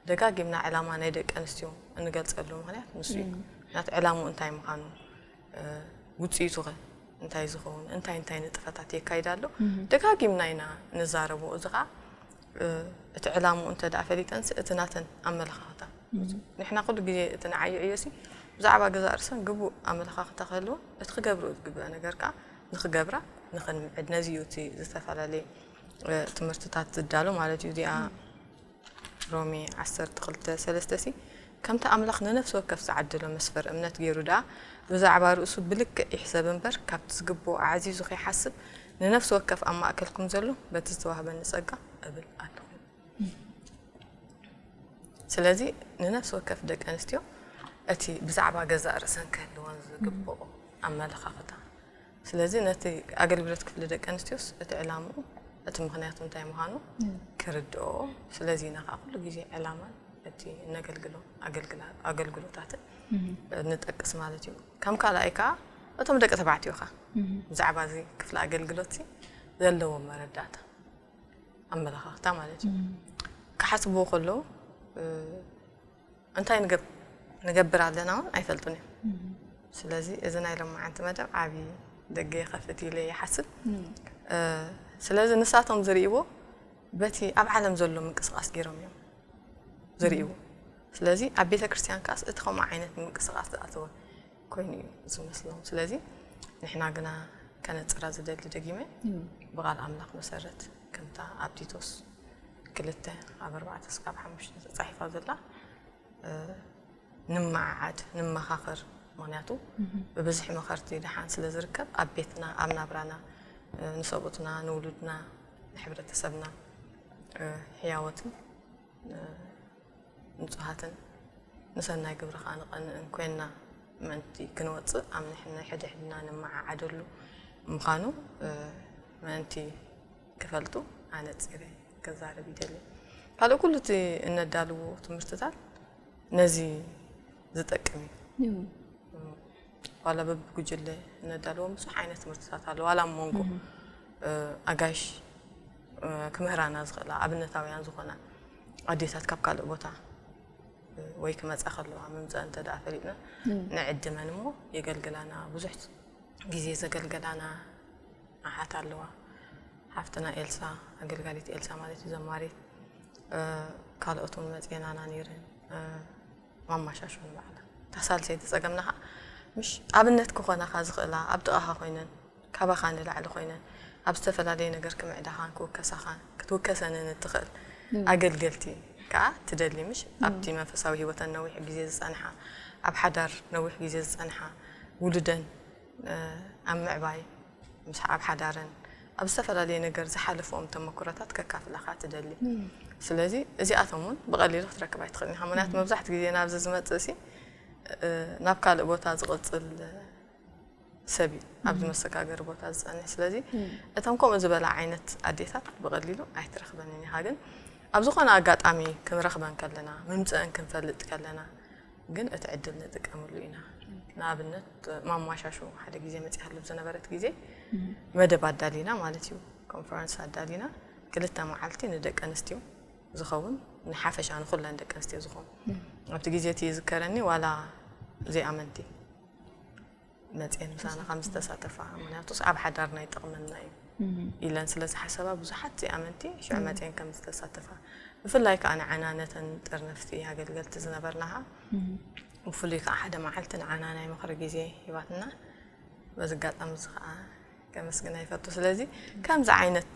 ደጋጊምና ዕላማ ናይ ደቂ ኣንስትዮ እንገልፀሉ ምኽንያት ንሱ እዩ። ምክንያቱ ዕላምኡ እንታይ ምዃኑ ውፅኢቱ ኸ እንታይ ዝኸውን እንታይ እንታይ ንጥፈታት የካይድ ኣሎ ደጋጊምና ኢና ንዛረቦ። እዚ ከዓ እቲ ዕላምኡ እንተ ደኣ ፈሊጠንሲ እቲ ናተን ኣመለኻኽታ ንሕና ኩሉ ግዜ እቲ ንዓዩ ዕዮሲ ብዛዕባ ገዛእ ርእሰን ግቡእ ኣመለኻኽታ ክህልወን እቲ ክገብርኦ ዝግብአ ነገር ከዓ ንክገብራ ንክንምዕድ ነዚ እዩ እቲ ዝተፈላለየ ትምህርትታት ዝዳሎ ማለት እዩ። እዚኣ ሮሜ ዓሰርተ ክልተ ሰለስተ ሲ፣ ከምቲ ኣምላኽ ንነፍሲ ወከፍ ዝዓደሎ መስፈር እምነት ገይሩ ደኣ፣ ብዛዕባ ርእሱ ብልክዕ ይሕሰብ እምበር፣ ካብቲ ዝግብኦ ኣዕዚዙ ከይሓስብ፣ ንነፍሲ ወከፍ ኣብ ማእከልኩም ዘሎ በቲ ዝተዋህበኒ ጸጋ እብል ኣለኹ። ስለዚ ንነፍሲ ወከፍ ደቂ ኣንስትዮ እቲ ብዛዕባ ገዛእ ርእሰን ክህልወን ዝግብኦ ኣመለኻኽታ፣ ስለዚ ነቲ ኣገልግሎት ክፍሊ ደቂ ኣንስትዮስ እቲ ዕላምኡ፣ እቲ ምኽንያቱ እንታይ ምዃኑ ክርድኦ። ስለዚ ኢና ከዓ ኩሉ ግዜ ዕላማን እቲ እነገልግሎ ኣገልግላ- ኣገልግሎታትን ንጠቅስ ማለት እዩ። ከም ካልኣይ ከዓ እቶም ደቂ ተባዕትዮ ከዓ ብዛዕባ እዚ ክፍሊ ኣገልግሎት ዘለዎም መረዳእታ፣ ኣመለኻኽታ ማለት እዩ። ክሓስብዎ ከለዉ እንታይ ንገብ- ንገብር ኣለና እውን ኣይፈልጡን እዮም። ስለዚ እዚ ናይ ሎማዓንቲ መደብ ዓብዪ ደገ ይኸፍት ኢለ ይሓስብ። ስለዚ ንሳቶም ዝርእይዎ በቲ ኣብ ዓለም ዘሎ ምንቅስቃስ ገይሮም እዮም ዝርእይዎ። ስለዚ ኣብ ቤተ ክርስቲያን ከኣስ እቲ ከምኡ ዓይነት ምንቅስቃስ ዝኣተወ ኮይኑ እዩ ዝመስሎም። ስለዚ ንሕና ግና ከነጽራ ዝደሊ ደጊመ ብቓል ኣምላኽ መሰረት ከምታ ኣብ ቲቶስ ክልተ ካብ ኣርባዕተ እስካብ ሓሙሽተ ተጻሒፋ ዘላ ንምዓዓድ፣ ንመኻኸር። ምኽንያቱ ብብዝሒ መኸርቲ ደሓን ስለ ዝርከብ ኣብ ቤትና፣ ኣብ ናብራና፣ ንሰብኡትና፣ ንውሉድና፣ ንሕብረተሰብና ሕያወትን ንጹሃትን ንሰናይ ግብሪ ከኣ ንቐንእን ኮይንና ምእንቲ ክንወጽእ ኣብ ንሕና ሕድሕድና ንመዓዓደሉ ምዃኑ ምእንቲ ክፈልጡ ኣነጺረ ክዛረብ ይደሊ። ካልእ ኩሉ እቲ እነዳልዎ ትምህርትታት ነዚ ዝጠቅም እዩ። ዋላ በብጉጅለ እነዳልዎም ብዙሕ ዓይነት ትምህርትታት ኣሎ። ዋላ ኣብ መንጎ ኣጋይሽ ክምህራና ዝኽእላ ኣብነታውያን ዝኾና ኣዴታት ካብ ካልእ ቦታ ወይ ክመጻ ከለዋ ምምጸእ እንተ ደኣ ፈሊጥና ንዕድመን እሞ የገልግላና። ብዙሕ ግዜ ዘገልገላና ኣሓት ኣለዋ። ሓፍትና ኤልሳ፣ ኣገልጋሊት ኤልሳ ማለት እዩ፣ ዘማሪት። ካልኦት እውን መጺኤናና ነይረን። ማማሻሾ ንባዕላ እታ ሳልሰይቲ ጸገምና ኸዓ ምሽ ኣብነት ክኾናኻ ዝኽእላ ኣብ ጥቓኻ ኮይነን ካባኻ ንላዕሊ ኮይነን ኣብ ዝተፈላለየ ነገር ክምዕዳኻን ክውከሳኻን ክትውከሰንን እትኽእል ኣገልገልቲ ከኣ ትደሊ። ምሽ ኣብቲ መንፈሳዊ ህይወተን ነዊሕ ግዜ ዝጸንሓ፣ ኣብ ሓዳር ነዊሕ ግዜ ዝጸንሓ፣ ውሉደን ኣብ ምዕባይ፣ ምስ ኣብ ሓዳረን ኣብ ዝተፈላለየ ነገር ዝሓለፍኦም ተመኩሮታት ከካፍላኻ ትደሊ። ስለዚ እዚኣቶም እውን ብቐሊሉ ክትረክብ ኣይትኽእልን ኢኻ። ምክንያቱ መብዛሕትኡ ግዜ ናብዚ ዝመጽእ ሲ ናብ ካልእ ቦታ ዝቕጽል ሰብ እዩ ኣብዚ መሰጋገሪ ቦታ ዝጸንሕ። ስለዚ እቶም ከምኡ ዝበላ ዓይነት ኣዴታት ብቐሊሉ ኣይትረኽበንን ኢኻ። ግን ኣብ ዝኾነ ኣጋጣሚ ክንረኽበን ከለና፣ ምምጸአን ክንፈልጥ ከለና ግን እቲ ዕድል ንጥቀመሉ ኢና። ንኣብነት ማማሻሹ ሓደ ግዜ መጺኣሉ ዝነበረት ግዜ መደብ ኣዳሊና ማለት እዩ። ኮንፈረንስ ኣዳሊና ክልተ መዓልቲ ንደቂ ኣንስትዮ ዝኸውን ንሓፈሻ ንኹለን ደቂ ኣንስትዮ ዝኸውን ኣብቲ ግዜ እቲ ይዝከረኒ ዋላ ዘይኣመንቲ መፅኤን ምሳና ከም ዝተሳተፋ ምክንያቱስ ኣብ ሓዳርና ይጠቕመና እዩ ኢለን ስለ ዝሓሰባ ብዙሓት ዘይኣመንቲ ሽዑ መፅኤን ከም ዝተሳተፋ ብፍላይ ከዓ ንዓና ነተን ጥርነፍቲ ኣገልገልቲ ዝነበርና ከዓ ብፍሉይ ከዓ ሓደ መዓልቲ ንዓና ናይ ምኽሪ ግዜ ሂባትና በዚ ኣጋጣሚ እዚ ከዓ ከመስግና ይፈቱ ስለዚ ከምዚ ዓይነት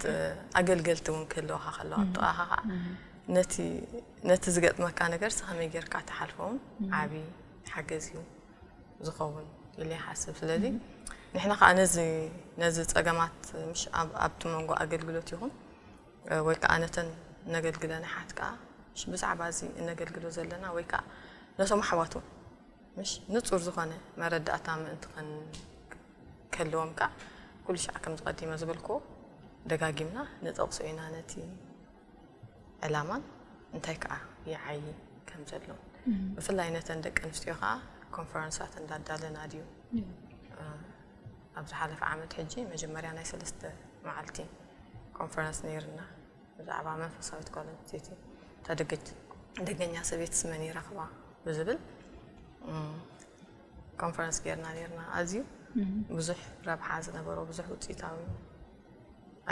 ኣገልገልቲ እውን ክህልወካ ከለዋ ኣብ ጥቓኻ ከዓ ነቲ ነቲ ዝገጥመካ ነገር ከመይ ጌርካ ትሓልፎ እውን ዓብዪ ሓገዝ እዩ ዝኸውን ኢለ ይሓስብ። ስለዚ ንሕና ከዓ ነዚ ነዚ ፀገማት ምሽ ኣብቲ መንጎ ኣገልግሎት ይኹን ወይ ከዓ ነተን ነገልግለን ኣሓት ከዓ ምሽ ብዛዕባ እዚ እነገልግሎ ዘለና ወይ ከዓ ነቶም ኣሕዋት እውን ምሽ ንፁር ዝኾነ መረዳእታ ምእንቲ ክህልዎም ከዓ ኩሉ ሻዕ ከምዚ ቀዲመ ዝበልክዎ ደጋጊምና ንጠቕሶ ኢና ነቲ ዕላማን እንታይ ከዓ ይዓዪ ከም ዘሎ ብፍላይ ነተን ደቂ ኣንስትዮ ከዓ ኮንፈረንሳት እንዳዳለና ድዩ ኣብ ዝሓለፈ ዓመት ሕጂ መጀመርያ ናይ ሰለስተ መዓልቲ ኮንፈረንስ ነይርና ብዛዕባ መንፈሳዊት ጓል ኣንስተይቲ እታ ደገኛ ሰበይትስ መን ይረኽባ ብዝብል ኮንፈረንስ ጌርና ነይርና ኣዝዩ ብዙሕ ረብሓ ዝነበሮ ብዙሕ ውፅኢታዊ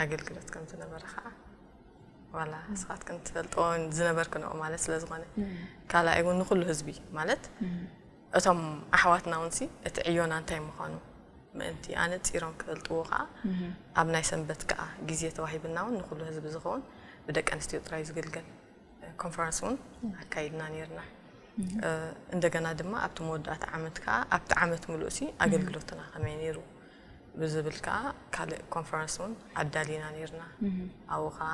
ኣገልግሎት ከም ዝነበረ ከዓ ዋላ ንስኻትክን ትፈልጥዎ ዝነበርክንኦ ማለት ስለ ዝኾነ ካልኣይ እውን ንኩሉ ህዝቢ ማለት እቶም ኣሕዋትና እውን እቲ ዕዮና እንታይ ምዃኑ ምእንቲ ኣነፂሮም ክፈልጥዎ ከዓ ኣብ ናይ ሰንበት ከዓ ግዜ ተዋሂብና እውን ንኩሉ ህዝቢ ዝኸውን ብደቂ ኣንስትዮ ጥራይ ዝግልገል ኮንፈረንስ እውን ኣካይድና ነይርና። እንደገና ድማ ኣብቲ መወዳእታ ዓመት ከዓ ኣብቲ ዓመት ምሉእ ሲ ኣገልግሎትና ከመይ ነይሩ ብዝብል ከዓ ካልእ ኮንፈረንስ እውን ኣዳሊና ነይርና። ኣብኡ ከዓ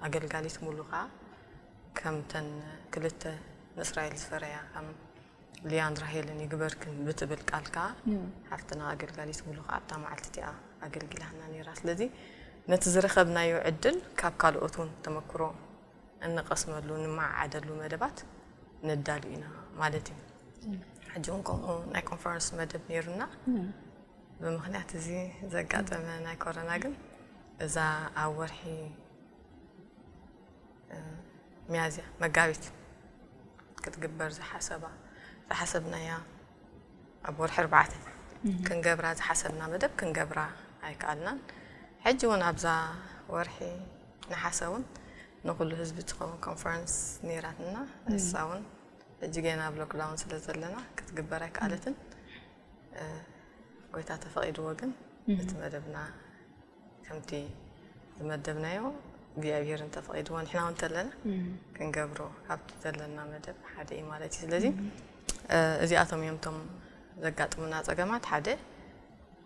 ኣገልጋሊት ሙሉ ከዓ ከምተን ክልተ ንእስራኤል ዝፈረያ ከም ሊያን ራሄልን ይግበርክን ብትብል ቃል ከዓ ሓፍትና ኣገልጋሊት ሙሉ ከዓ ኣብታ መዓልቲ እቲኣ ኣገልጊላና ነይራ። ስለዚ ነቲ ዝረኸብናዮ ዕድል ካብ ካልኦት እውን ተመክሮ እንቐስመሉ፣ እንመዓዓደሉ መደባት ነዳሉ ኢና ማለት እዩ። ሕጂ እውን ከምኡ ናይ ኮንፈረንስ መደብ ነይሩና። ብምኽንያት እዚ ዘጋጠመ ናይ ኮሮና ግን እዛ ኣብ ወርሒ ሚያዝያ፣ መጋቢት ክትግበር ዝሓሰባ ዝሓሰብናያ ኣብ ወርሒ ኣርባዕተ ክንገብራ ዝሓሰብና መደብ ክንገብራ ኣይከኣልናን። ሕጂ እውን ኣብዛ ወርሒ ነሓሰ እውን ንኩሉ ህዝቢ ትኸውን ኮንፈረንስ ነይራትና። እሳ እውን ሕጂ ገና ኣብ ሎክዳውን ስለ ዘለና ክትግበር ኣይከኣለትን። ጎይታ ተፈቒድዎ ግን እቲ መደብና ከምቲ ዝመደብናዮ እግዚኣብሔር እንተፈቒድዎ ንሕና እውን ተለና ክንገብሮ ካብቲ ዘለና መደብ ሓደ እዩ ማለት እዩ። ስለዚ እዚኣቶም እዮም እቶም ዘጋጥሙና ጸገማት። ሓደ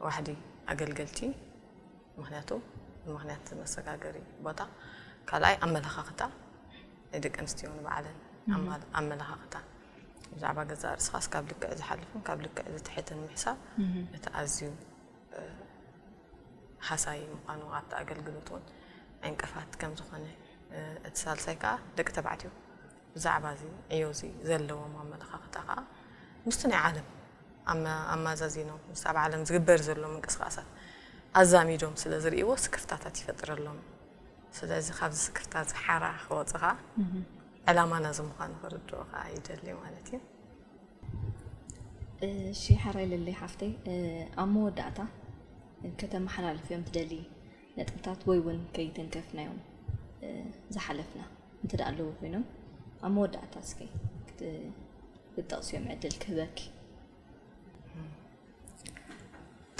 ዋሕዲ ኣገልገልቲ፣ ምኽንያቱ ብምኽንያት መሰጋገሪ ቦታ፣ ካልኣይ ኣመለኻኽታ ናይ ደቂ ኣንስትዮ ንባዕለን ኣመለኻኽታ ብዛዕባ ገዛእ ርእስኻስ ካብ ልክዕ ዝሓልፍን ካብ ልክዕ ዝትሕትን ምሕሳብ እቲ ኣዝዩ ሃሳዪ ምዃኑ ኣብቲ ኣገልግሎት እውን ዕንቅፋት ከም ዝኾነ፣ እቲ ሳልሳይ ከዓ ደቂ ተባዕትዮ ብዛዕባ እዚ ዕዮ እዚ ዘለዎም ኣመለኻኽታ ከዓ ምስቲ ናይ ዓለም ኣመ- ኣማዛዚኖም ምስ ኣብ ዓለም ዝግበር ዘሎ ምንቅስቃሳት ኣዛሚዶም ስለ ዝርእይዎ ስክፍታታት ይፈጥረሎም። ስለዚ ካብዚ ስክፍታ እዚ ሓራ ክወፅኻ ዕላማና እዚ ምዃኑ ክርድኡ ከዓ ይደሊ ማለት እዩ። እሺ ሓራይ ለለይ ሓፍተይ ኣብ መወዳእታ ከተመሓላልፍዮም ትደሊ ነጥብታት ወይ እውን ከይተንከፍናዮም ዝሓለፍና እንተ ኣለዉ ኮይኖም ኣብ መወዳእታ እስከ ክትጠቕስዮም ዕድል ክህበኪ።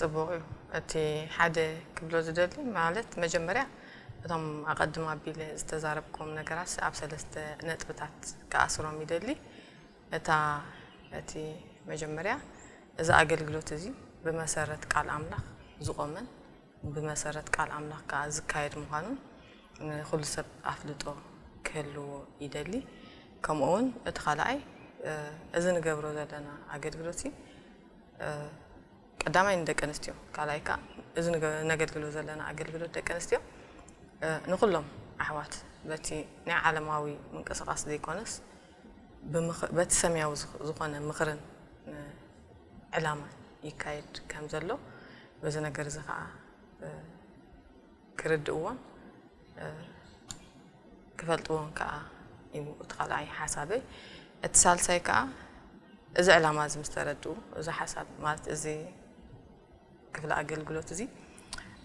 ፅቡቕ እዩ። እቲ ሓደ ክብሎ ዝደሊ ማለት መጀመርያ እቶም ኣቐድም ኣቢለ ዝተዛረብኩም ነገራት ኣብ ሰለስተ ነጥብታት ክኣስሮም ይደሊ። እታ እቲ መጀመርያ እዚ ኣገልግሎት እዚ ብመሰረት ቃል ኣምላኽ ዝቆመን ብመሰረት ቃል ኣምላኽ ከዓ ዝካየድ ምዃኑን ንኩሉ ሰብ ኣፍልጦ ክህልዎ ይደሊ። ከምኡ እውን እቲ ካልኣይ እዚ ንገብሮ ዘለና ኣገልግሎት ቀዳማይ ንደቂ ኣንስትዮ፣ ካልኣይ ከዓ እዚ ነገልግሎ ዘለና ኣገልግሎት ደቂ ኣንስትዮ ንኩሎም ኣሕዋት በቲ ናይ ዓለማዊ ምንቅስቃስ ዘይኮነስ በቲ ሰማያዊ ዝኾነ ምኽርን ዕላማን ይካየድ ከም ዘሎ በዚ ነገር እዚ ከዓ ክርድእዎን ክፈልጥዎን ከዓ እዩ እቲ ካልኣይ ሓሳበይ። እቲ ሳልሳይ ከዓ እዚ ዕላማ እዚ ምስ ተረድኡ፣ እዚ ሓሳብ ማለት እዚ ክፍሊ ኣገልግሎት እዚ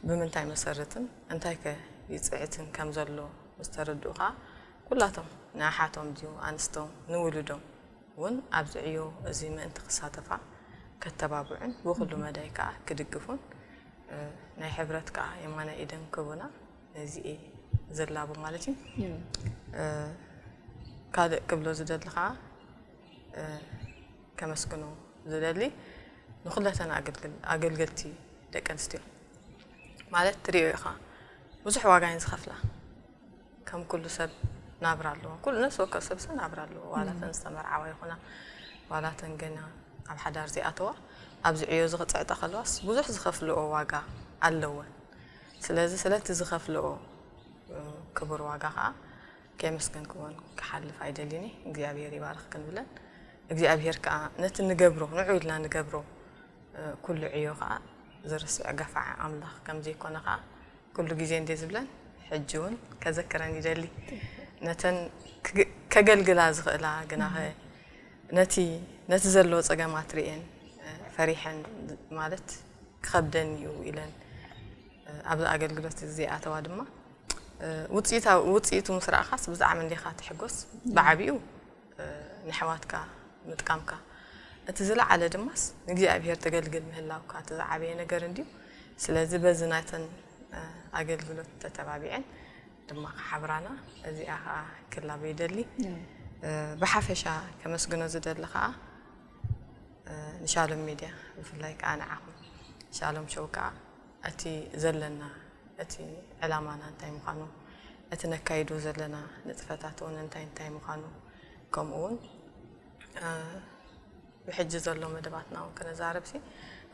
ብምንታይ መሰርትን እንታይ ከ ይፅዕትን ከም ዘሎ ምስ ተረድኡ ከዓ ኩላቶም ንኣሓቶም ድዩ ኣንስቶም ንውሉዶም እውን ኣብዚ ዕዮ እዚ ምእንቲ ክሳተፋ ከተባብዑን ብኹሉ መዳይ ከዓ ክድግፉን ናይ ሕብረት ከዓ የማነ ኢደን ክቡና ነዚ እየ ዝላቦ ማለት እዩ። ካልእ ክብሎ ዝደሊ ከዓ ከመስግኖ ዝደሊ ንኩለተን ኣገልገልቲ ደቂ ኣንስትዮ ማለት ትሪኦ ኢኻ ብዙሕ ዋጋ እየን ዝኸፍላ። ከም ኩሉ ሰብ ናብራ ኣለዎ። ኩሉ ነፍሲ ወከፍ ሰብ ሰብ ናብራ ኣለዎ። ዋላተን ዝተመርዓዋ ይኹና ዋላተን ገና ኣብ ሓዳር ዘይኣተዋ ኣብዚ ዕዮ እዚ ክፅዕጣ ከለዋስ ብዙሕ ዝኸፍልኦ ዋጋ ኣለወን። ስለዚ ስለቲ ዝኸፍልኦ ክቡር ዋጋ ከዓ ከየመስገንክዎን ክሓልፍ ኣይደልን እየ። እግዚኣብሔር ይባርኽክን ብለን እግዚኣብሔር ከዓ ነቲ ንገብሮ ንዑ ኢልና ንገብሮ ኩሉ ዕዮ ከዓ ዝርስዕ ገፋዒ ኣምላኽ ከም ዘይኮነ ከዓ ኩሉ ግዜ እንድየ ዝብለን ሕጂ እውን ከዘክረን ይደሊ። ነተን ከገልግላ ዝኽእላ ግናኸ ነቲ ነቲ ዘለዎ ፀገማት ርእየን ፈሪሐን ማለት ክኸብደን እዩ ኢለን ኣብዚ ኣገልግሎት እዚ ዘይኣተዋ ድማ ውፅኢቱ ምስ ረኣኻስ ብዛዕባ እንዲኻ ትሕጎስ ብዓብኡ ንሕዋትካ ምጥቃምካ እቲ ዝለዓለ ድማስ ንእግዚኣብሔር ተገልግል ምህላውካ እቲ ዝዓበየ ነገር እንድዩ። ስለዚ በዚ ናይተን ኣገልግሎት ተተባቢዐን ድማ ሓብራና እዚኣ ከዓ ክላበ ይደሊ። ብሓፈሻ ከመስግኖ ዝደሊ ከዓ ንሻሎም ሚድያ፣ ብፍላይ ከዓ ንዓኹም ሻሎም ሾው ከዓ እቲ ዘለና፣ እቲ ዕላማና እንታይ ምዃኑ፣ እቲ ነካይዶ ዘለና ንጥፈታት እውን እንታይ እንታይ ምዃኑ፣ ከምኡ እውን ብሕጂ ዘሎ መደባትና እውን ክነዛረብ ሲ፣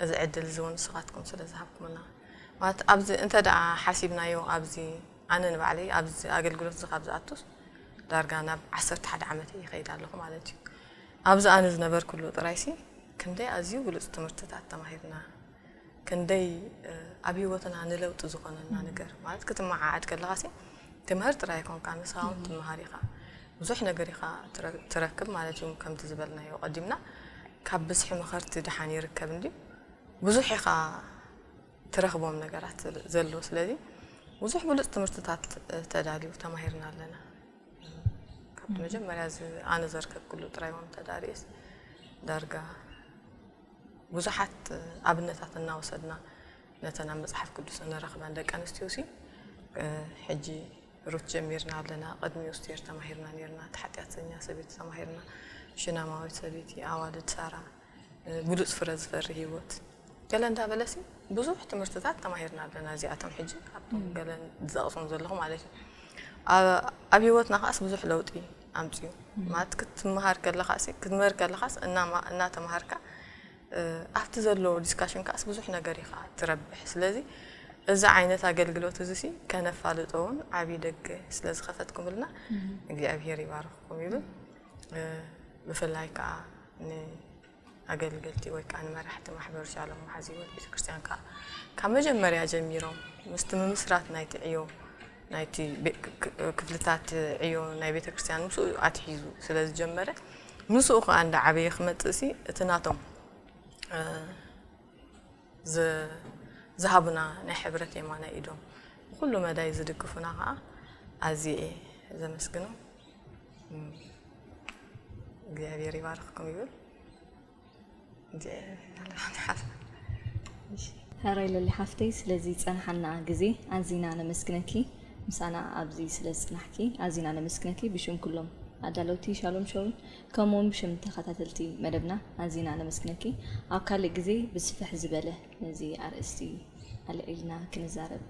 እዚ ዕድል እዚ እውን ንስኻትኩም ስለ ዝሃብኩምና፣ ማለት ኣብዚ እንተ ደኣ ሓሲብናዮ፣ ኣብዚ ኣነ ንባዕለይ ኣብዚ ኣገልግሎት እዚ ካብ ዝኣቱስ ዳርጋ ናብ ዓሰርተ ሓደ ዓመት እየ ይኸይድ ኣለኹ ማለት እዩ። ኣብዚ ኣነ ዝነበርኩሉ ጥራይ ሲ ክንደይ ኣዝዩ ብሉጽ ትምህርትታት ተማሂርና፣ ክንደይ ኣብ ህይወትና ንለውጢ ዝኾነና ነገር ማለት ክትመዓዓድ ከለኻ ሲ ትምህር ጥራይ ኣይኮንካ፣ ንስኻ እውን ትመሃር ኢኻ፣ ብዙሕ ነገር ኢኻ ትረክብ ማለት እዩ። ከምቲ ዝበልናዮ ቀዲምና ካብ ብዝሒ መኸርቲ ድሓን ይርከብ እንዲ ብዙሕ ኢኻ ትረኽቦም ነገራት ዘሎ። ስለዚ ብዙሕ ብሉፅ ትምህርትታት ተዳልዩ ተማሂርና ኣለና። ካብቲ መጀመርያ ኣነ ዘርከብኩሉ ጥራይ እውን ተዳልዩስ ዳርጋ ብዙሓት ኣብነታት እናወሰድና ነተን ኣብ መፅሓፍ ቅዱስ እንረኽበን ደቂ ኣንስትዮ ሲ ሕጂ ሩት ጀሚርና ኣለና፣ ቅድሚኡ ስቴር ተማሂርና ነርና፣ እቲ ሓጢኣተኛ ሰበይቲ ተማሂርና፣ ሽናማዊት ሰበይቲ፣ ኣዋልድ ሳራ፣ ብሉፅ ፍረ ዝፈሪ ህይወት ገለ እንዳበለሲ ብዙሕ ትምህርትታት ተማሂርና ኣለና። እዚኣቶም ሕጂ ካብቶም ገለ ዝጠቕሶም ዘለኹ ማለት እዩ። ኣብ ህይወትና ከዓስ ብዙሕ ለውጢ ኣምፅኡ ማለት ክትመሃር ከለኻሲ ክትምህር ከለኻስ እናተመሃርካ ኣብቲ ዘሎ ዲስካሽን ከዓስ ብዙሕ ነገር ኢኻ ትረብሕ። ስለዚ እዚ ዓይነት ኣገልግሎት እዚ ሲ ከነፋልጦ እውን ዓብዪ ደገ ስለ ዝኸፈትኩምልና እግዚኣብሄር ይባርኽኩም ይብል። ብፍላይ ከዓ ንኣገልገልቲ ወይ ከዓ ንመራሕቲ ማሕበር ሻሎም መሓዚ ህይወት ቤተክርስትያን ከዓ ካብ መጀመርያ ጀሚሮም ምስቲ ምምስራት ናይቲ ዕዮ ናይቲ ክፍልታት ዕዮ ናይ ቤተክርስትያን ምስኡ ኣትሒዙ ስለ ዝጀመረ ምስኡ ከዓ እንዳ ዓበየ ክመፅእ ሲ እቲ ናቶም ዝሃቡና ናይ ሕብረት የማናይ ኢዶም ብኩሉ መዳይ ዝድግፉና ከዓ ኣዝየ እየ ዘመስግኖም። እግዚኣብሔር ይባርኽኩም ይብል። ሕራይ ለሊ ሓፍተይ ስለዚ ጸንሓና ግዜ ኣዚና ነመስግነኪ። ምሳና ኣብዚ ስለ ዝጽናሕኪ ኣዚና ነመስግነኪ ብሽም ኩሎም ኣዳለውቲ ሻሎም ሾውን ከምኡውን ብሽም ተኸታተልቲ መደብና ኣዚና ነመስግነኪ። ኣብ ካልእ ግዜ ብስፍሕ ዝበለ ነዚ ኣርእስቲ ኣልዒልና ክንዛረብ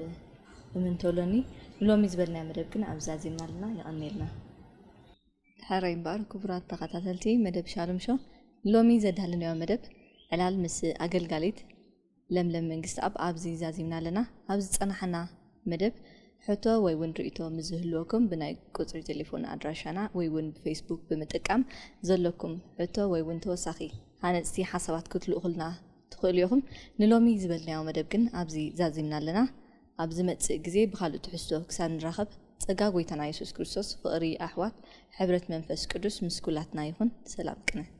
እምንቶ ኣሎኒ። ንሎሚ ዝበልናዮ መደብ ግን ኣብዚ ኣዚምና ኣለና። የቐንየልና። ሕራይ እምበኣር ክቡራት ተኸታተልቲ መደብ ሻሎም ሾው፣ ሎሚ ዘዳለናዮ መደብ ዕላል ምስ ኣገልጋሊት ለምለም መንግስትኣብ ኣብዚ ዛዚምና ኣለና። ኣብ ዝጸናሕና መደብ ሕቶ ወይ እውን ርእይቶ ምስ ዝህልወኩም ብናይ ቁጽሪ ቴሌፎን ኣድራሻና ወይ እውን ብፌስቡክ ብምጥቃም ዘለኩም ሕቶ ወይ እውን ተወሳኺ ሃነጽቲ ሓሳባት ክትልእኹልና ትኽእሉ ኢኹም። ንሎሚ ዝበልናዮ መደብ ግን ኣብዚ ዛዚምና ኣለና። ኣብ ዝመጽእ ግዜ ብኻልእ ትሕዝቶ ክሳብ ንራኸብ ጸጋ ጎይታና የሱስ ክርስቶስ፣ ፍቕሪ ኣሕዋት፣ ሕብረት መንፈስ ቅዱስ ምስ ኩላትና ይኹን። ሰላም ቅነ።